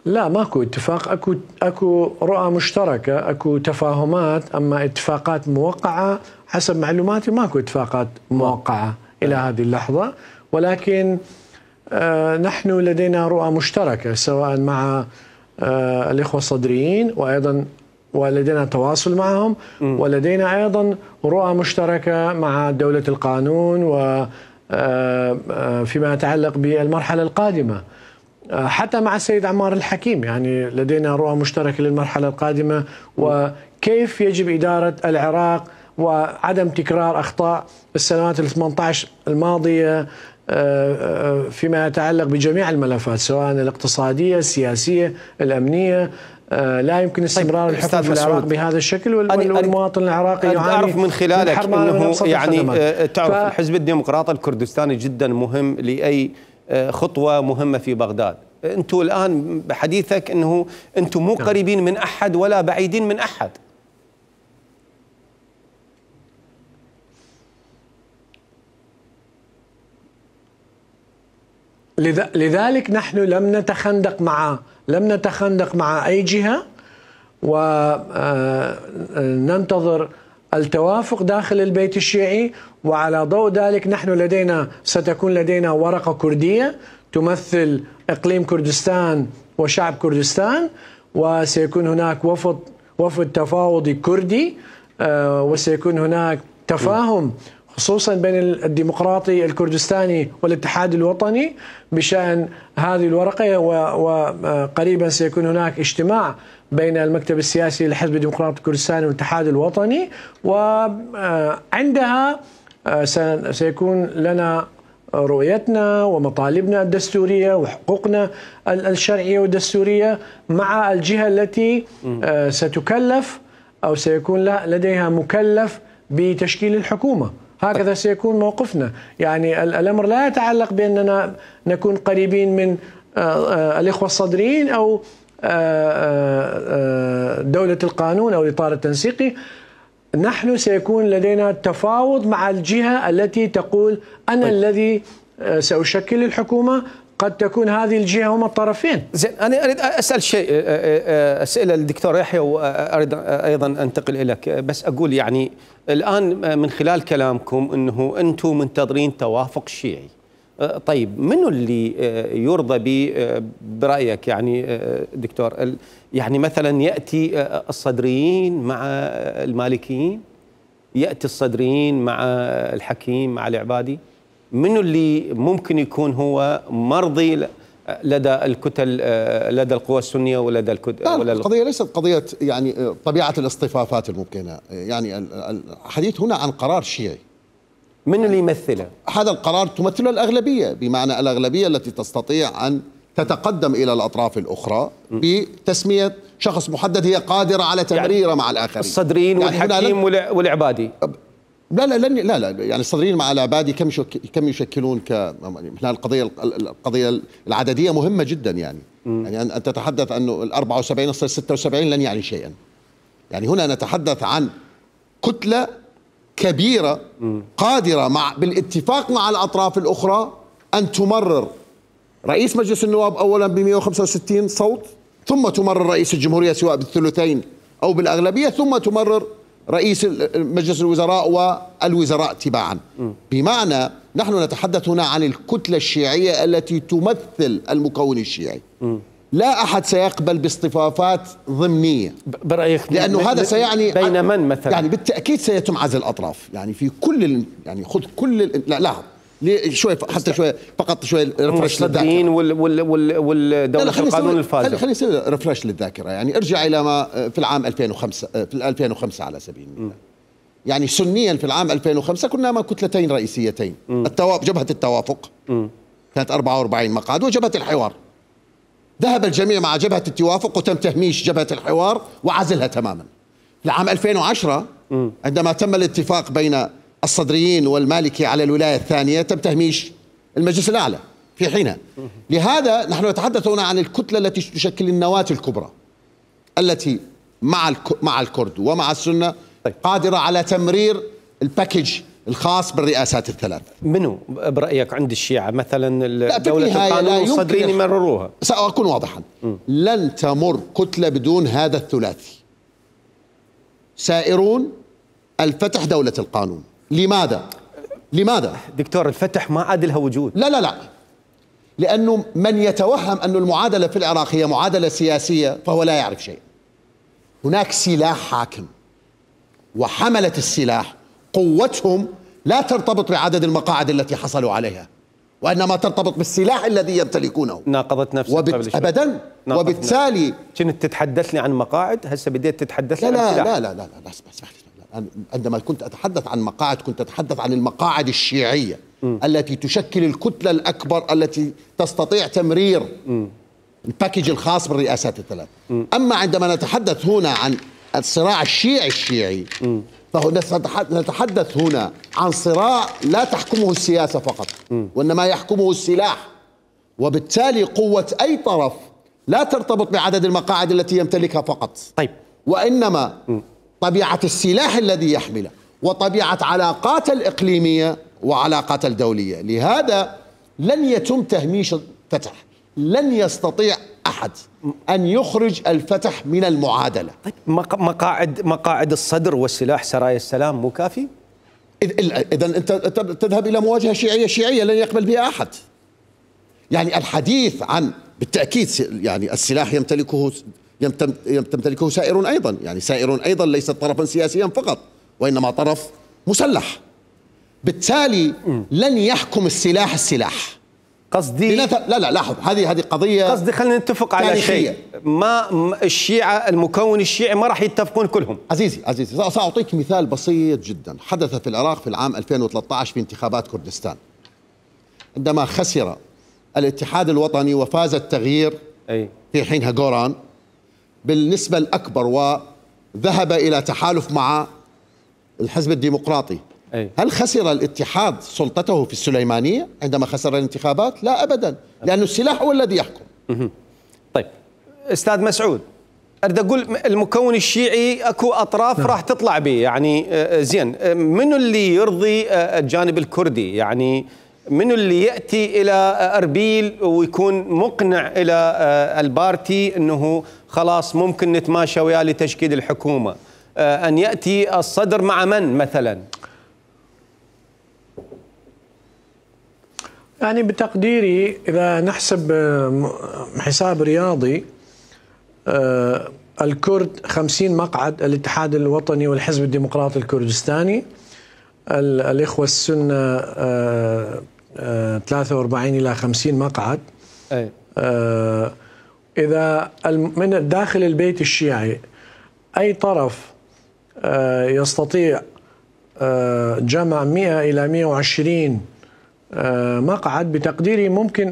لا، ماكو اتفاق، اكو رؤى مشتركة، اكو تفاهمات، اما اتفاقات موقعة حسب معلوماتي ماكو اتفاقات موقعة الى هذه اللحظة. ولكن نحن لدينا رؤى مشتركة سواء مع الإخوة الصدريين، وأيضا ولدينا تواصل معهم، ولدينا أيضا رؤى مشتركة مع دولة القانون وفيما يتعلق بالمرحلة القادمة، حتى مع السيد عمار الحكيم. يعني لدينا رؤى مشتركة للمرحلة القادمة وكيف يجب إدارة العراق وعدم تكرار أخطاء السنوات 18 الماضية فيما يتعلق بجميع الملفات سواء الاقتصادية، السياسية، الأمنية. لا يمكن استمرار الحكم في العراق بهذا الشكل، والمواطن العراقي يعاني. أعرف من خلالك أنه يعني تعرف الحزب الديمقراطي الكردستاني جدا مهم لأي خطوة مهمة في بغداد. أنتم الآن بحديثك أنه أنتم مو قريبين من أحد ولا بعيدين من أحد. لذلك نحن لم نتخندق مع أي جهة، وننتظر التوافق داخل البيت الشيعي، وعلى ضوء ذلك نحن ستكون لدينا ورقة كردية تمثل إقليم كردستان وشعب كردستان، وسيكون هناك وفد تفاوضي كردي، وسيكون هناك تفاهم خصوصا بين الديمقراطي الكردستاني والاتحاد الوطني بشأن هذه الورقة، وقريبا سيكون هناك اجتماع بين المكتب السياسي للحزب الديمقراطي الكردستاني والاتحاد الوطني، وعندها سيكون لنا رؤيتنا ومطالبنا الدستورية وحقوقنا الشرعية والدستورية مع الجهة التي ستكلف أو سيكون لديها مكلف بتشكيل الحكومة. هكذا سيكون موقفنا. يعني الأمر لا يتعلق بأننا نكون قريبين من الإخوة الصدريين أو دولة القانون أو الإطار التنسيقي. نحن سيكون لدينا تفاوض مع الجهة التي تقول أنا الذي سأشكل الحكومة. قد تكون هذه الجهة هما الطرفين. زين، أنا أريد أسأل شيء أسئلة للدكتور يحيى، وأريد أيضا أنتقل إليك. بس أقول يعني الآن من خلال كلامكم أنه أنتم منتظرين توافق شيعي. طيب منو اللي يرضى به برأيك يعني دكتور؟ يعني مثلا يأتي الصدريين مع المالكيين، يأتي الصدريين مع الحكيم مع العبادي، منو اللي ممكن يكون هو مرضي لدى الكتل، لدى القوى السنية ولدى الكتل؟ القضية ليست قضية يعني طبيعة الاصطفافات الممكنة، يعني الحديث هنا عن قرار شيعي. من اللي يمثله؟ هذا القرار تمثله الأغلبية، بمعنى الأغلبية التي تستطيع أن تتقدم إلى الأطراف الأخرى بتسمية شخص محدد هي قادرة على تمريره يعني مع الآخرين. الصدريين يعني والحكيم والعبادي. لا يعني الصدريين مع العبادي كم يشكلون القضية العددية مهمة جدا يعني. يعني أن تتحدث أنه ال 74 يصل 76 لن يعني شيئا. يعني هنا نتحدث عن كتلة كبيرة قادرة بالاتفاق مع الأطراف الأخرى أن تمرر رئيس مجلس النواب أولا ب 165 صوت، ثم تمرر رئيس الجمهورية سواء بالثلثين أو بالأغلبية، ثم تمرر رئيس مجلس الوزراء والوزراء تباعا. بمعنى نحن نتحدث هنا عن الكتلة الشيعية التي تمثل المكون الشيعي. لا أحد سيقبل باصطفافات ضمنية برأيك، لأنه هذا سيعني بين من مثلا؟ يعني بالتأكيد سيتم عزل الأطراف، يعني في كل يعني خذ كل لا شوي حتى شوي فقط شوي ريفرش للذاكرة والدولة القانون الفاسد. خلينا نسوي ريفرش للذاكرة. يعني ارجع إلى ما في العام 2005 في 2005 على سبيل المثال. يعني سنيا في العام 2005 كنا مع كتلتين رئيسيتين، جبهة التوافق كانت 44 مقعد، وجبهة الحوار. ذهب الجميع مع جبهة التوافق وتم تهميش جبهة الحوار وعزلها تماما. في العام 2010 عندما تم الاتفاق بين الصدريين والمالكي على الولاية الثانية تم تهميش المجلس الأعلى في حينها. لهذا نحن نتحدث هنا عن الكتلة التي تشكل النواة الكبرى التي مع الكرد ومع السنة قادرة على تمرير الباكج الخاص بالرئاسات الثلاث. منو برأيك عند الشيعة مثلا دولة القانون والصدريين يمرروها؟ سأكون واضحا، لن تمر كتلة بدون هذا الثلاثي. سائرون، الفتح، دولة القانون. لماذا؟ دكتور الفتح ما عاد لها وجود. لا لأنه من يتوهم أن المعادلة في العراق هي معادلة سياسية فهو لا يعرف شيء. هناك سلاح حاكم، وحملة السلاح قوتهم لا ترتبط بعدد المقاعد التي حصلوا عليها، وإنما ترتبط بالسلاح الذي يمتلكونه. ناقضت نفسك أبدا. وبالتالي كنت تتحدثني عن مقاعد، هسه بديت تتحدث عن سلاح. لا اسمح لي. عندما كنت أتحدث عن مقاعد كنت أتحدث عن المقاعد الشيعية التي تشكل الكتلة الأكبر التي تستطيع تمرير الباكج الخاص بالرئاسات الثلاث. أما عندما نتحدث هنا عن الصراع الشيعي نتحدث هنا عن صراع لا تحكمه السياسة فقط، وإنما يحكمه السلاح. وبالتالي قوة أي طرف لا ترتبط بعدد المقاعد التي يمتلكها فقط، طيب، وإنما طبيعة السلاح الذي يحمله وطبيعة علاقاته الإقليمية وعلاقاته الدولية. لهذا لن يتم تهميش الفتح، لن يستطيع أحد أن يخرج الفتح من المعادلة. مقاعد الصدر والسلاح سرايا السلام مو كافي؟ إذا أنت تذهب إلى مواجهة شيعية لن يقبل بها أحد. يعني الحديث عن بالتأكيد يعني السلاح يمتلكه سائرون أيضا، يعني سائرون أيضا ليس طرفا سياسيا فقط وإنما طرف مسلح. بالتالي لن يحكم السلاح. قصدي لا لاحظ، هذه قضية. قصدي خلينا نتفق على شيء، ما الشيعة المكون الشيعي ما راح يتفقون كلهم. عزيزي سأعطيك مثال بسيط جدا حدث في العراق في العام 2013 في انتخابات كردستان، عندما خسر الاتحاد الوطني وفاز التغيير في حينها غوران بالنسبة الأكبر وذهب إلى تحالف مع الحزب الديمقراطي. هل خسر الاتحاد سلطته في السليمانية عندما خسر الانتخابات؟ لا أبدا، لأن السلاح هو الذي يحكم. طيب أستاذ مسعود، أريد أقول المكون الشيعي أكو أطراف راح تطلع به، يعني زين، منو اللي يرضي الجانب الكردي؟ يعني منو اللي يأتي إلى أربيل ويكون مقنع إلى البارتي أنه خلاص ممكن نتماشى وياه لتشكيل الحكومة؟ أن يأتي الصدر مع من مثلا؟ يعني بتقديري إذا نحسب حساب رياضي، الكرد 50 مقعد، الاتحاد الوطني والحزب الديمقراطي الكردستاني، الإخوة السنة 43 إلى 50 مقعد. إذا من داخل البيت الشيعي أي طرف يستطيع جمع 100 إلى 120 مقعد، بتقديري ممكن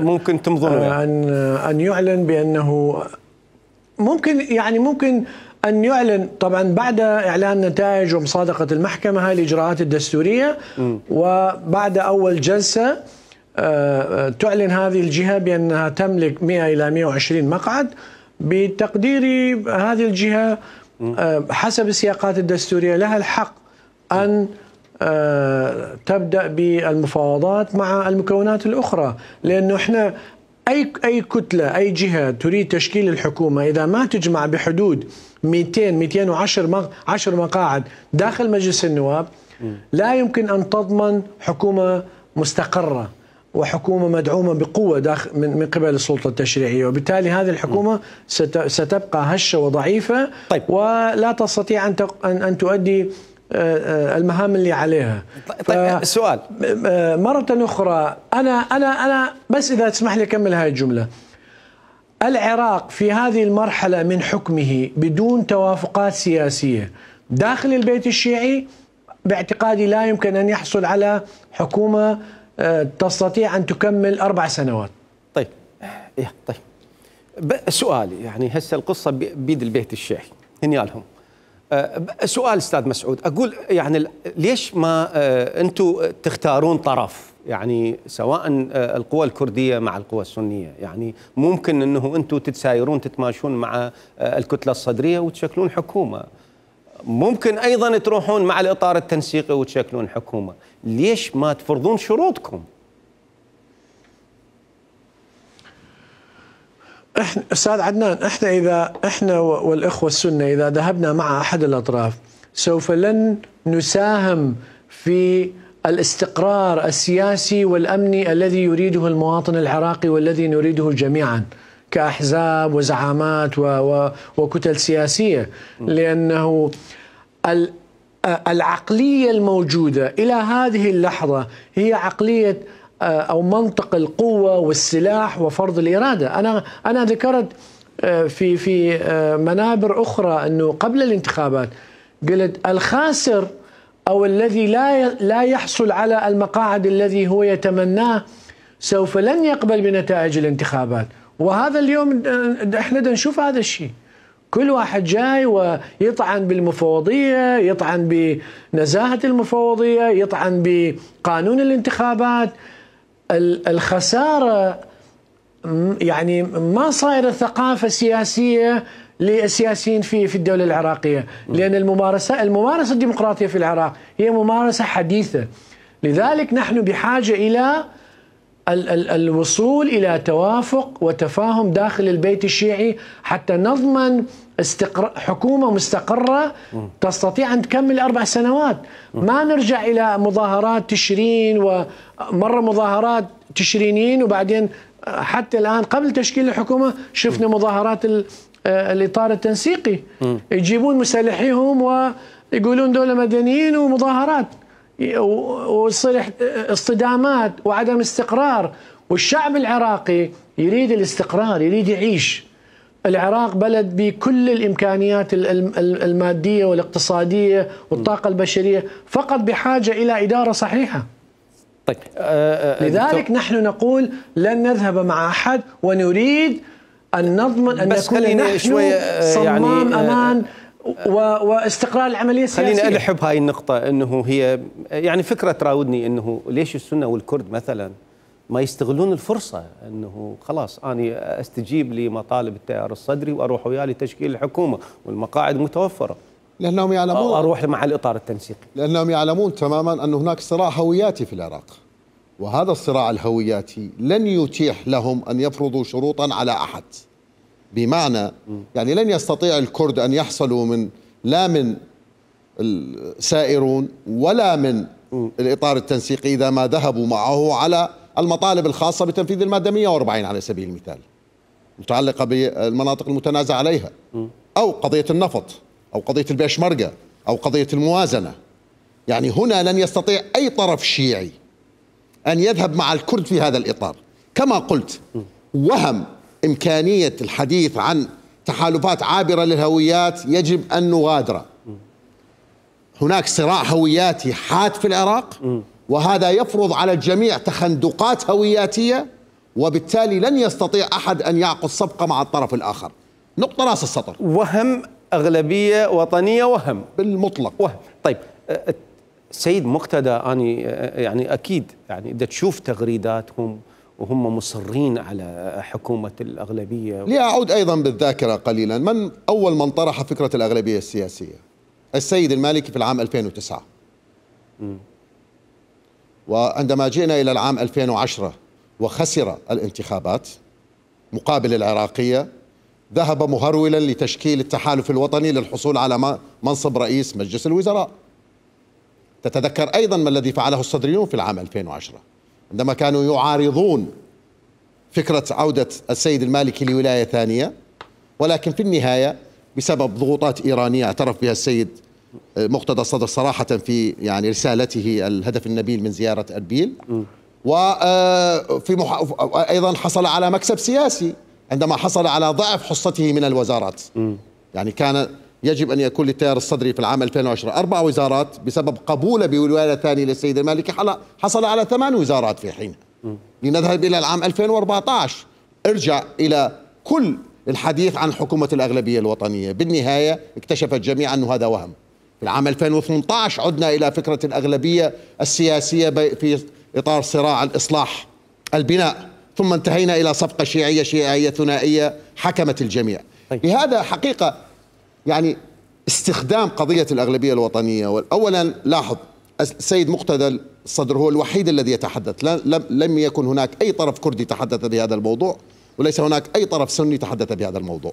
ممكن تمضون أن يعلن بأنه ممكن أن يعلن، طبعا بعد إعلان نتائج ومصادقة المحكمة هاي الإجراءات الدستورية، وبعد أول جلسة تعلن هذه الجهة بأنها تملك 100 إلى 120 مقعد. بتقديري هذه الجهة حسب السياقات الدستورية لها الحق أن تبدأ بالمفاوضات مع المكونات الأخرى، لأنه إحنا أي كتلة، أي جهة تريد تشكيل الحكومة إذا ما تجمع بحدود 210 مقاعد داخل مجلس النواب لا يمكن أن تضمن حكومة مستقرة وحكومة مدعومة بقوة داخل من قبل السلطة التشريعية، وبالتالي هذه الحكومة ستبقى هشة وضعيفة. طيب. ولا تستطيع أن تؤدي المهام اللي عليها. طيب السؤال مرة أخرى، أنا بس إذا تسمح لي أكمل هاي الجملة. العراق في هذه المرحلة من حكمه بدون توافقات سياسية داخل البيت الشيعي باعتقادي لا يمكن أن يحصل على حكومة تستطيع أن تكمل 4 سنوات. طيب سؤالي، يعني هسه القصة بيد البيت الشيعي هنيالهم. سؤال أستاذ مسعود، أقول يعني ليش ما أنتم تختارون طرف، يعني سواء القوى الكردية مع القوى السنية؟ يعني ممكن أنه أنتم تتسايرون تتماشون مع الكتلة الصدرية وتشكلون حكومة، ممكن أيضا تروحون مع الإطار التنسيقي وتشكلون حكومة. ليش ما تفرضون شروطكم؟ أستاذ عدنان، إحنا والإخوة السنة إذا ذهبنا مع أحد الأطراف سوف لن نساهم في الاستقرار السياسي والأمني الذي يريده المواطن العراقي والذي نريده جميعا كأحزاب وزعامات وكتل سياسية، لأنه العقلية الموجودة إلى هذه اللحظة هي عقلية أو منطق القوة والسلاح وفرض الإرادة. أنا ذكرت في منابر أخرى أنه قبل الانتخابات قلت الخاسر أو الذي لا يحصل على المقاعد الذي هو يتمناه سوف لن يقبل بنتائج الانتخابات. وهذا اليوم احنا نشوف هذا الشيء، كل واحد جاي ويطعن بالمفوضية، يطعن بنزاهة المفوضية، يطعن بقانون الانتخابات. الخسارة يعني ما صايرة ثقافة سياسية للسياسيين في الدولة العراقية، لأن الممارسة الديمقراطية في العراق هي ممارسة حديثة. لذلك نحن بحاجة إلى الوصول إلى توافق وتفاهم داخل البيت الشيعي حتى نضمن حكومة مستقرة تستطيع أن تكمل 4 سنوات. ما نرجع إلى مظاهرات تشرين ومرة مظاهرات تشرينيين، وبعدين حتى الآن قبل تشكيل الحكومة شفنا مظاهرات الإطار التنسيقي، يجيبون مسلحيهم ويقولون دولة مدنيين ومظاهرات، ويصير اصطدامات وعدم استقرار. والشعب العراقي يريد الاستقرار، يريد يعيش. العراق بلد بكل الإمكانيات المادية والاقتصادية والطاقة البشرية، فقط بحاجة إلى إدارة صحيحة. طيب لذلك نحن نقول لن نذهب مع أحد، ونريد أن نضمن أن نكون نحن صمام أمان واستقرار العملية السياسية. خليني ألحب هاي النقطة، أنه هي يعني فكرة تراودني، أنه ليش السنة والكرد مثلا ما يستغلون الفرصة، أنه خلاص أنا أستجيب لمطالب التيار الصدري وأروح وياه لتشكيل الحكومة والمقاعد متوفرة، لأنهم يعلمون، أروح مع الإطار التنسيقي، لأنهم يعلمون تماما أن هناك صراع هوياتي في العراق، وهذا الصراع الهوياتي لن يتيح لهم أن يفرضوا شروطا على أحد. بمعنى يعني لن يستطيع الكرد أن يحصلوا لا من السائرون ولا من الإطار التنسيقي إذا ما ذهبوا معه على المطالب الخاصة بتنفيذ المادة 140 على سبيل المثال، متعلقة بالمناطق المتنازع عليها، أو قضية النفط، أو قضية البيشمركة، أو قضية الموازنة. يعني هنا لن يستطيع أي طرف شيعي أن يذهب مع الكرد في هذا الإطار. كما قلت، وهم إمكانية الحديث عن تحالفات عابرة للهويات يجب أن نغادر. هناك صراع هوياتي حاد في العراق، وهذا يفرض على الجميع تخندقات هوياتية، وبالتالي لن يستطيع أحد أن يعقد صفقة مع الطرف الآخر. نقطة رأس السطر. وهم أغلبية وطنية، وهم بالمطلق، وهم. طيب سيد مقتدى، أنا يعني أكيد يعني إذا تشوف تغريداتهم وهم مصرين على حكومة الأغلبية. لأعود أيضا بالذاكرة قليلا، من أول من طرح فكرة الأغلبية السياسية؟ السيد المالكي في العام 2009. وعندما جئنا إلى العام 2010 وخسر الانتخابات مقابل العراقية، ذهب مهرولا لتشكيل التحالف الوطني للحصول على منصب رئيس مجلس الوزراء. تتذكر أيضا ما الذي فعله الصدريون في العام 2010 عندما كانوا يعارضون فكرة عودة السيد المالكي لولاية ثانية، ولكن في النهاية بسبب ضغوطات إيرانية اعترف بها السيد مقتدى الصدر صراحة في يعني رسالته الهدف النبيل من زيارة أربيل، أيضا حصل على مكسب سياسي عندما حصل على ضعف حصته من الوزارات. يعني كان يجب أن يكون للتيار الصدري في العام 2010 4 وزارات، بسبب قبوله بولاية ثانية للسيد المالكي حصل على 8 وزارات في حينها. لنذهب إلى العام 2014 ارجع إلى كل الحديث عن حكومة الأغلبية الوطنية، بالنهاية اكتشف الجميع أنه هذا وهم. في العام 2018 عدنا إلى فكرة الأغلبية السياسية في إطار صراع الإصلاح البناء، ثم انتهينا إلى صفقة شيعية ثنائية حكمت الجميع. لهذا حقيقة يعني استخدام قضية الأغلبية الوطنية، أولا لاحظ السيد مقتدى الصدر هو الوحيد الذي يتحدث، لم يكن هناك أي طرف كردي تحدث بهذا الموضوع، وليس هناك أي طرف سني تحدث بهذا الموضوع.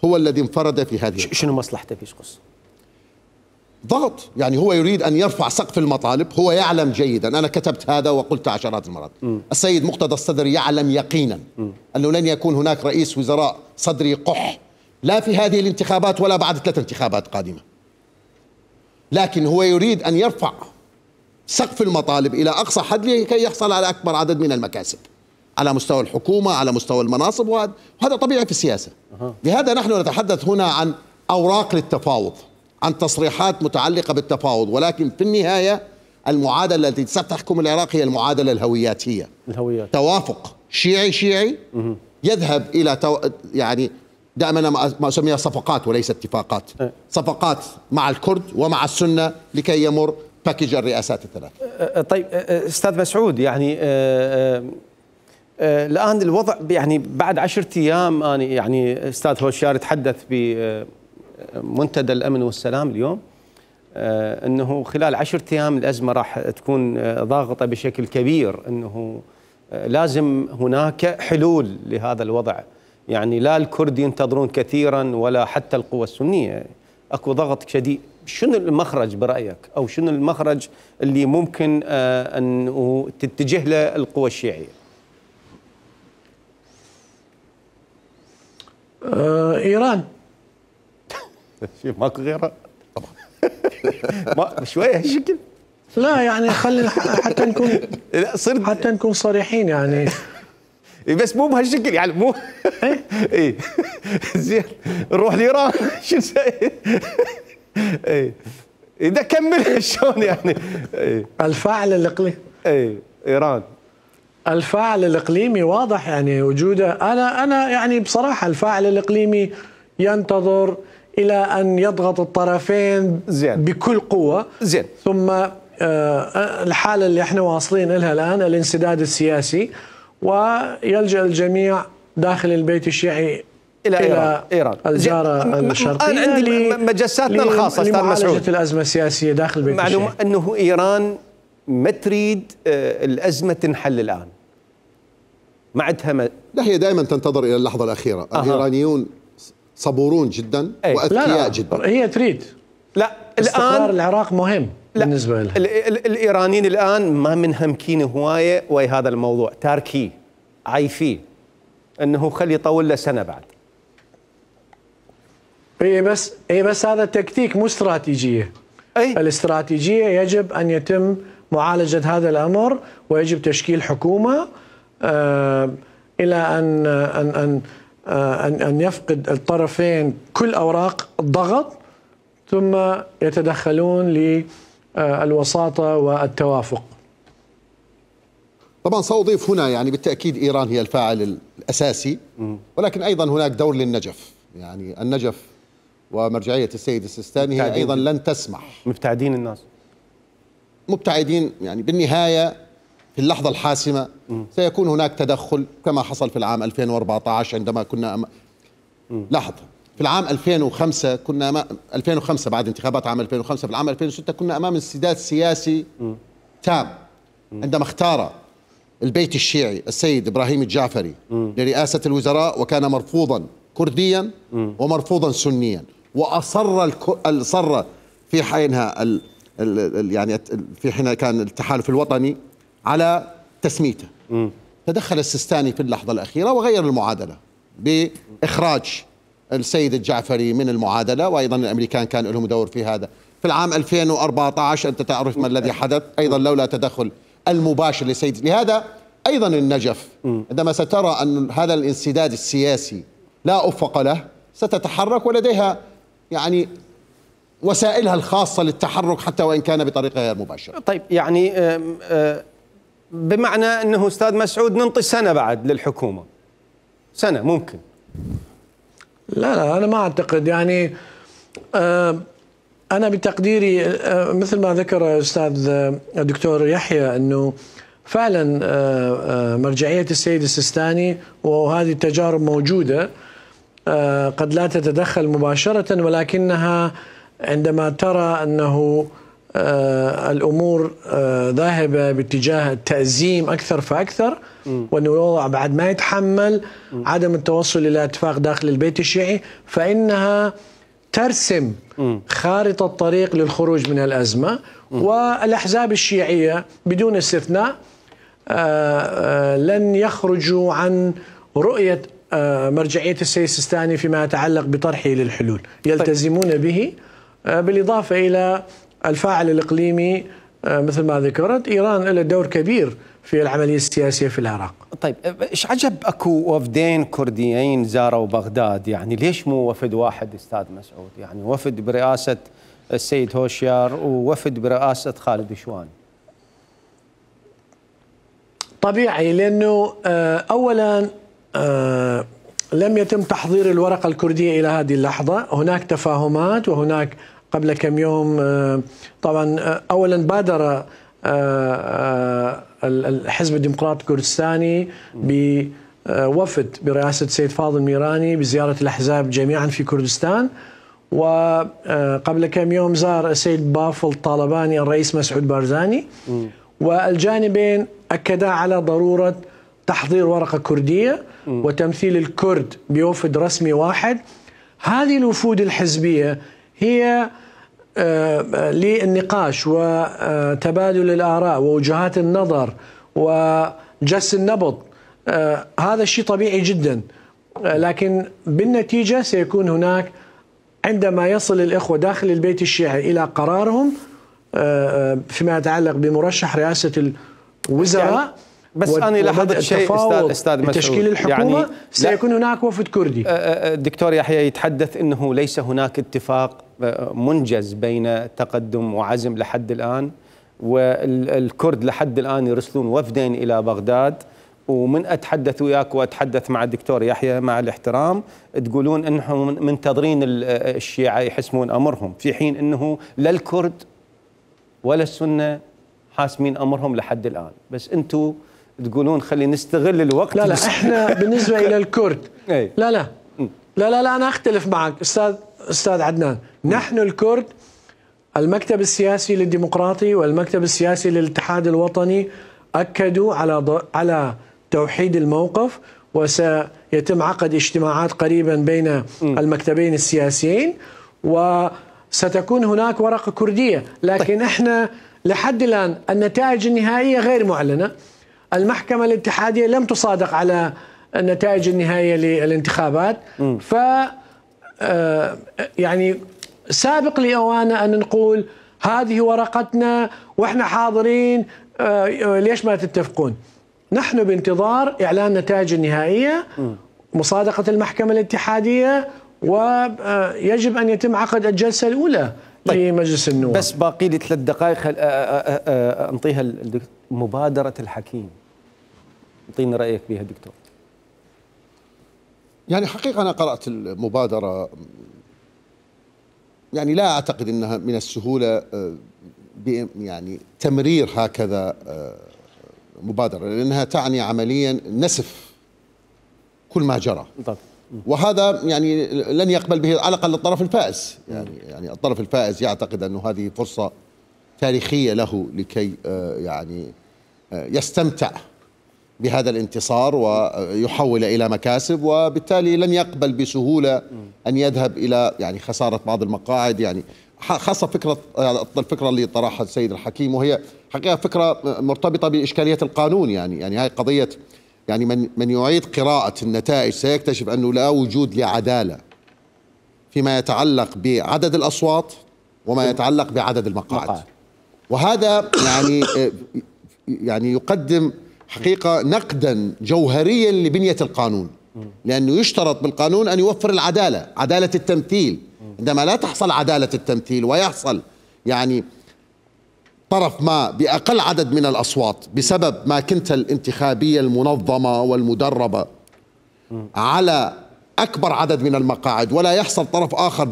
هو الذي انفرد في هذه. شنو مصلحته في قصة؟ ضغط، يعني هو يريد أن يرفع سقف المطالب. هو يعلم جيدا، أنا كتبت هذا وقلت عشرات المرات، السيد مقتدى الصدر يعلم يقينا أنه لن يكون هناك رئيس وزراء صدري قح، لا في هذه الانتخابات ولا بعد 3 انتخابات قادمة. لكن هو يريد أن يرفع سقف المطالب إلى أقصى حد لكي يحصل على أكبر عدد من المكاسب على مستوى الحكومة، على مستوى المناصب، وهذا طبيعي في السياسة. لهذا نحن نتحدث هنا عن أوراق للتفاوض، عن تصريحات متعلقة بالتفاوض، ولكن في النهاية المعادلة التي ستحكم العراق هي المعادلة الهوياتية. توافق شيعي يذهب إلى يعني دائما ما أسميها صفقات وليس اتفاقات، صفقات مع الكرد ومع السنة لكي يمر باكيج الرئاسات الثلاث. طيب أستاذ مسعود، يعني الآن الوضع يعني بعد 10 أيام، أنا يعني أستاذ هوشيار تحدث بمنتدى الأمن والسلام اليوم أنه خلال 10 أيام الأزمة راح تكون ضاغطة بشكل كبير، أنه لازم هناك حلول لهذا الوضع. يعني لا الكرد ينتظرون كثيرا ولا حتى القوى السنية، اكو ضغط شديد. شنو المخرج برأيك، أو شنو المخرج اللي ممكن أن تتجه له القوى الشيعية؟ إيران. ماكو غيرها طبعا. شوية هالشكل. لا يعني خلينا حتى نكون صريحين يعني. بس مو بهالشكل يعني، مو ايه زين نروح لايران شو نسوي؟ ايه اذا كمل شلون يعني؟ ايه الفاعل الاقليمي. ايه ايران الفاعل الاقليمي واضح يعني وجوده. انا يعني بصراحه الفاعل الاقليمي ينتظر الى ان يضغط الطرفين زين بكل قوه. زين. ثم الحاله اللي احنا واصلين لها الان الانسداد السياسي، ويلجأ الجميع داخل البيت الشيعي إلى إيران الجارة الشرقية. أنا عندي مجساتنا الخاصة أستاذ مسعود لمعالجة الأزمة السياسية داخل البيت الشيعي. معلومة أنه إيران ما تريد الأزمة تنحل الآن، ما عندها لا، هي دائما تنتظر إلى اللحظة الأخيرة. الإيرانيون صبورون جدا وأذكياء جدا. هي تريد. لا استقرار العراق مهم بالنسبة لها. الإيرانيين الآن ما منهمكين هواية ويا هذا الموضوع، تاركيه عايفيه أنه خلي يطول له سنة بعد. هي بس هذا تكتيك مو استراتيجية. الاستراتيجية يجب أن يتم معالجة هذا الأمر، ويجب تشكيل حكومة إلى أن يفقد الطرفين كل أوراق الضغط، ثم يتدخلون للوساطة والتوافق. طبعا سأضيف هنا يعني بالتأكيد إيران هي الفاعل الأساسي، ولكن أيضا هناك دور للنجف. يعني النجف ومرجعية السيد السيستاني هي أيضا لن تسمح. مبتعدين الناس، مبتعدين يعني بالنهاية في اللحظة الحاسمة سيكون هناك تدخل كما حصل في العام 2014 عندما كنا لاحظ في العام 2005 كنا 2005 بعد انتخابات عام 2005، في العام 2006 كنا أمام انسداد سياسي تام عندما اختار البيت الشيعي السيد إبراهيم الجعفري لرئاسة الوزراء، وكان مرفوضا كرديا ومرفوضا سنيا، وأصر في حينها يعني في حين كان التحالف الوطني على تسميته. تدخل السيستاني في اللحظة الأخيرة وغير المعادلة بإخراج السيد الجعفري من المعادلة، وأيضا الأمريكان كان لهم دور في هذا. في العام 2014 أنت تعرف ما الذي حدث أيضا لولا تدخل المباشر لسيد. لهذا أيضا النجف عندما سترى أن هذا الانسداد السياسي لا أفق له ستتحرك، ولديها يعني وسائلها الخاصة للتحرك حتى وإن كان بطريقة غير مباشرة. طيب يعني بمعنى أنه أستاذ مسعود ننطي سنة بعد للحكومة، سنة ممكن؟ لا أنا ما أعتقد. يعني أنا بتقديري مثل ما ذكر أستاذ الدكتور يحيى أنه فعلا مرجعية السيد السيستاني وهذه التجارب موجودة قد لا تتدخل مباشرة، ولكنها عندما ترى أنه الأمور ذاهبة باتجاه التأزيم أكثر فأكثر، وأن الوضع بعد ما يتحمل عدم التوصل إلى اتفاق داخل البيت الشيعي، فإنها ترسم خارطة طريق للخروج من الأزمة. والأحزاب الشيعية بدون استثناء لن يخرجوا عن رؤية مرجعية السيد السيستاني فيما يتعلق بطرحه للحلول، يلتزمون به. بالإضافة إلى الفاعل الإقليمي مثل ما ذكرت، إيران لها دور كبير في العملية السياسية في العراق. طيب إيش عجب أكو وفدين كرديين زاروا بغداد؟ يعني ليش مو وفد واحد أستاذ مسعود؟ يعني وفد برئاسة السيد هوشيار ووفد برئاسة خالد شوان. طبيعي، لأنه أولا لم يتم تحضير الورقة الكردية إلى هذه اللحظة. هناك تفاهمات، وهناك قبل كم يوم طبعا أولا بادر الحزب الديمقراطي الكردستاني بوفد برئاسة السيد فاضل ميراني بزيارة الأحزاب جميعا في كردستان، وقبل كم يوم زار السيد بافل طالباني الرئيس مسعود بارزاني، والجانبين أكدا على ضرورة تحضير ورقة كردية وتمثيل الكرد بوفد رسمي واحد. هذه الوفود الحزبية هي للنقاش وتبادل الآراء ووجهات النظر وجس النبض. هذا الشيء طبيعي جدا، لكن بالنتيجة سيكون هناك عندما يصل الإخوة داخل البيت الشيعي إلى قرارهم فيما يتعلق بمرشح رئاسة الوزراء يعني بس أنا لاحظت شيء أستاذ مسعود، تشكيل الحكومة يعني سيكون هناك وفد كردي. الدكتور يحيى يتحدث أنه ليس هناك اتفاق منجز بين تقدم وعزم لحد الآن، والكرد لحد الآن يرسلون وفدين إلى بغداد، ومن أتحدث وياك وأتحدث مع الدكتور يحيى مع الاحترام تقولون أنهم منتظرين الشيعة يحسمون أمرهم، في حين أنه لا الكرد ولا السنة حاسمين أمرهم لحد الآن. بس أنتم تقولون خلي نستغل الوقت. لا احنا بالنسبة إلى الكرد لا أنا أختلف معك أستاذ عدنان. نحن الكرد المكتب السياسي للديمقراطي والمكتب السياسي للاتحاد الوطني أكدوا على توحيد الموقف، وسيتم عقد اجتماعات قريبا بين المكتبين السياسيين، وستكون هناك ورقة كردية. لكن احنا لحد الآن النتائج النهائية غير معلنة. المحكمة الاتحادية لم تصادق على النتائج النهائية للانتخابات، ف يعني سابق لأوانه أن نقول هذه ورقتنا وإحنا حاضرين، ليش ما تتفقون؟ نحن بانتظار إعلان النتائج النهائية، مصادقة المحكمة الاتحادية، ويجب أن يتم عقد الجلسة الأولى لمجلس النواب. بس باقي لي 3 دقائق أنطيها مبادرة الحكيم، أعطيني رأيك بها دكتور. يعني حقيقة أنا قرأت المبادرة، يعني لا أعتقد أنها من السهولة يعني تمرير هكذا مبادرة، لأنها تعني عمليا نسف كل ما جرى، وهذا يعني لن يقبل به على الأقل الطرف الفائز. يعني الطرف الفائز يعتقد أنه هذه فرصة تاريخية له لكي يعني يستمتع بهذا الانتصار ويحول إلى مكاسب، وبالتالي لن يقبل بسهولة أن يذهب إلى يعني خسارة بعض المقاعد، يعني خاصة الفكرة اللي طرحها السيد الحكيم، وهي حقيقة فكرة مرتبطة بإشكالية القانون. يعني هاي قضية، يعني من يعيد قراءة النتائج سيكتشف أنه لا وجود لعدالة فيما يتعلق بعدد الأصوات وما يتعلق بعدد المقاعد، وهذا يعني يقدم حقيقة نقدا جوهريا لبنية القانون، لأنه يشترط بالقانون أن يوفر العدالة، عدالة التمثيل. عندما لا تحصل عدالة التمثيل ويحصل يعني طرف ما بأقل عدد من الأصوات بسبب ما كنت الانتخابية المنظمة والمدربة على أكبر عدد من المقاعد، ولا يحصل طرف آخر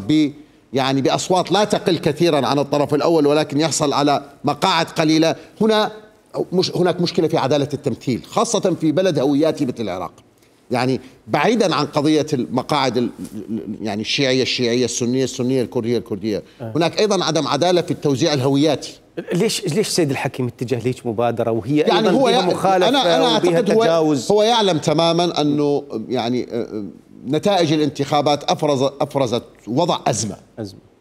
يعني بأصوات لا تقل كثيرا عن الطرف الأول ولكن يحصل على مقاعد قليلة، هناك مشكلة في عدالة التمثيل، خاصة في بلد هوياتي مثل العراق. يعني بعيدا عن قضية المقاعد يعني الشيعية السنية الكردية، هناك أيضا عدم عدالة في التوزيع الهوياتي. ليش سيد الحكيم اتجه ليش مبادرة وهي يعني أيضا بها مخالفة أنا أعتقد تجاوز؟ هو يعلم تماما أنه يعني نتائج الانتخابات أفرزت وضع أزمة،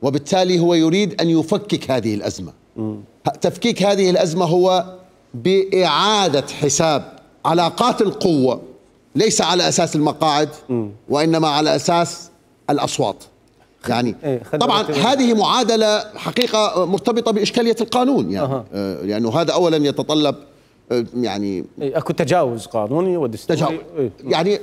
وبالتالي هو يريد أن يفكك هذه الأزمة. تفكيك هذه الأزمة هو بإعادة حساب علاقات القوة، ليس على أساس المقاعد وإنما على أساس الأصوات. يعني طبعا هذه معادلة حقيقة مرتبطة بإشكالية القانون، يعني لأنه هذا أولا يتطلب يعني أكو تجاوز قانوني ودستوري. يعني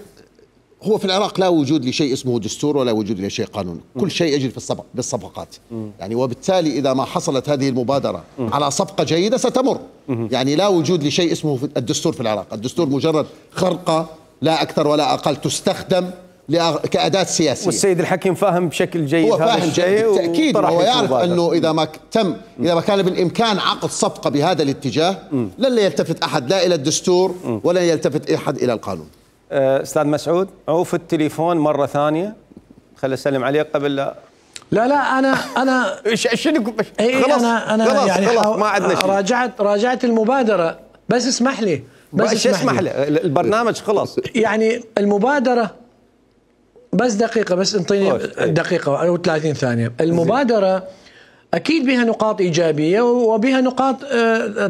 هو في العراق لا وجود لشيء اسمه دستور ولا وجود لشيء قانون، كل شيء يجري في بالصفقات. يعني وبالتالي إذا ما حصلت هذه المبادرة على صفقة جيدة ستمر. يعني لا وجود لشيء اسمه الدستور في العراق، الدستور مجرد خرقة لا أكثر ولا أقل، تستخدم كأداة سياسية. والسيد الحكيم فاهم بشكل جيد هذا الشيء، بالتأكيد هو يعرف أنه إذا ما كان بالإمكان عقد صفقة بهذا الاتجاه لن يلتفت أحد لا إلى الدستور ولا يلتفت أحد إلى القانون. أستاذ مسعود، عوف التليفون مرة ثانية، خلي أسلم عليك قبل لا أنا شنو خلاص أنا يعني خلاص ما عندنا شيء. راجعت المبادرة، بس اسمح لي بس اسمح لي، البرنامج خلص. يعني المبادرة، بس دقيقة، بس انطيني دقيقة أو 30 ثانية. المبادرة أكيد بها نقاط إيجابية وبها نقاط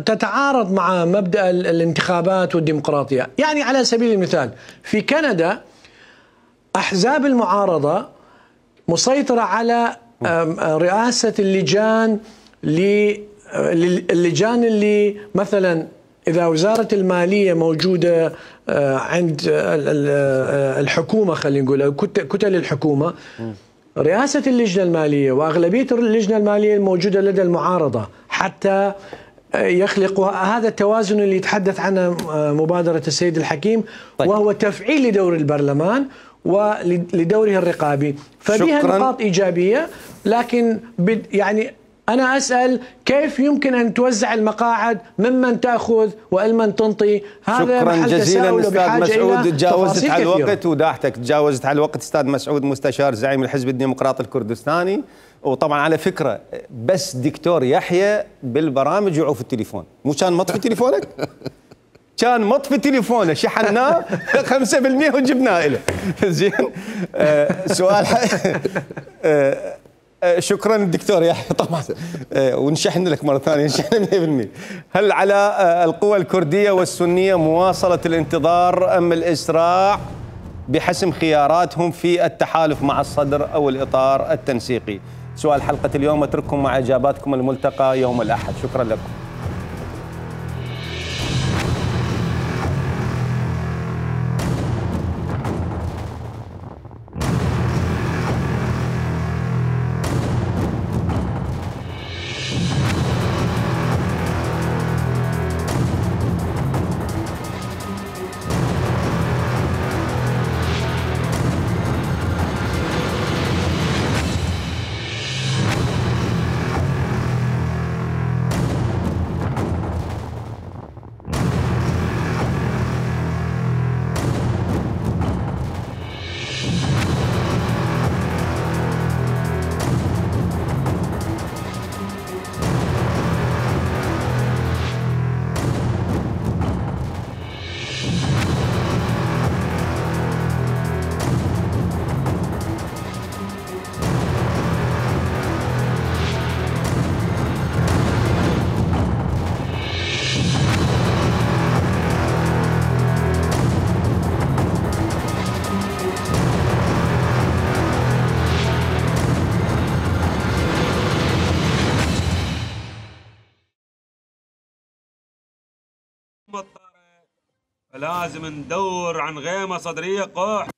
تتعارض مع مبدأ الانتخابات والديمقراطية. يعني على سبيل المثال في كندا أحزاب المعارضة مسيطرة على رئاسة اللجان اللي مثلا إذا وزارة المالية موجودة عند الحكومة، خلينا نقول كتل الحكومة، رئاسة اللجنة المالية وأغلبية اللجنة المالية الموجودة لدى المعارضة، حتى يخلقوا هذا التوازن اللي يتحدث عنه مبادرة السيد الحكيم. طيب. وهو تفعيل لدور البرلمان ولدوره الرقابي، فبها نقاط إيجابية. لكن يعني أنا أسأل كيف يمكن أن توزع المقاعد، ممن تأخذ ومن تنطي؟ هذا شكرا جزيلا أستاذ مسعود. تجاوزت على الوقت وداحتك، تجاوزت على الوقت. أستاذ مسعود مستشار زعيم الحزب الديمقراطي الكردستاني. وطبعا على فكرة بس دكتور يحيى بالبرامج يعوف التليفون، مو كان مطفي تليفونك؟ كان مطفي تليفونه، شحناه 5% وجبناه له. زين. سؤال شكرا الدكتور يحيى طبعا، ونشحن لك مره ثانيه، نشحن 100%. هل على القوى الكرديه والسنيه مواصله الانتظار ام الاسراع بحسم خياراتهم في التحالف مع الصدر او الاطار التنسيقي؟ سؤال حلقه اليوم، اترككم مع اجاباتكم. الملتقى يوم الاحد. شكرا لكم. لازم ندور عن غيمة صدرية قح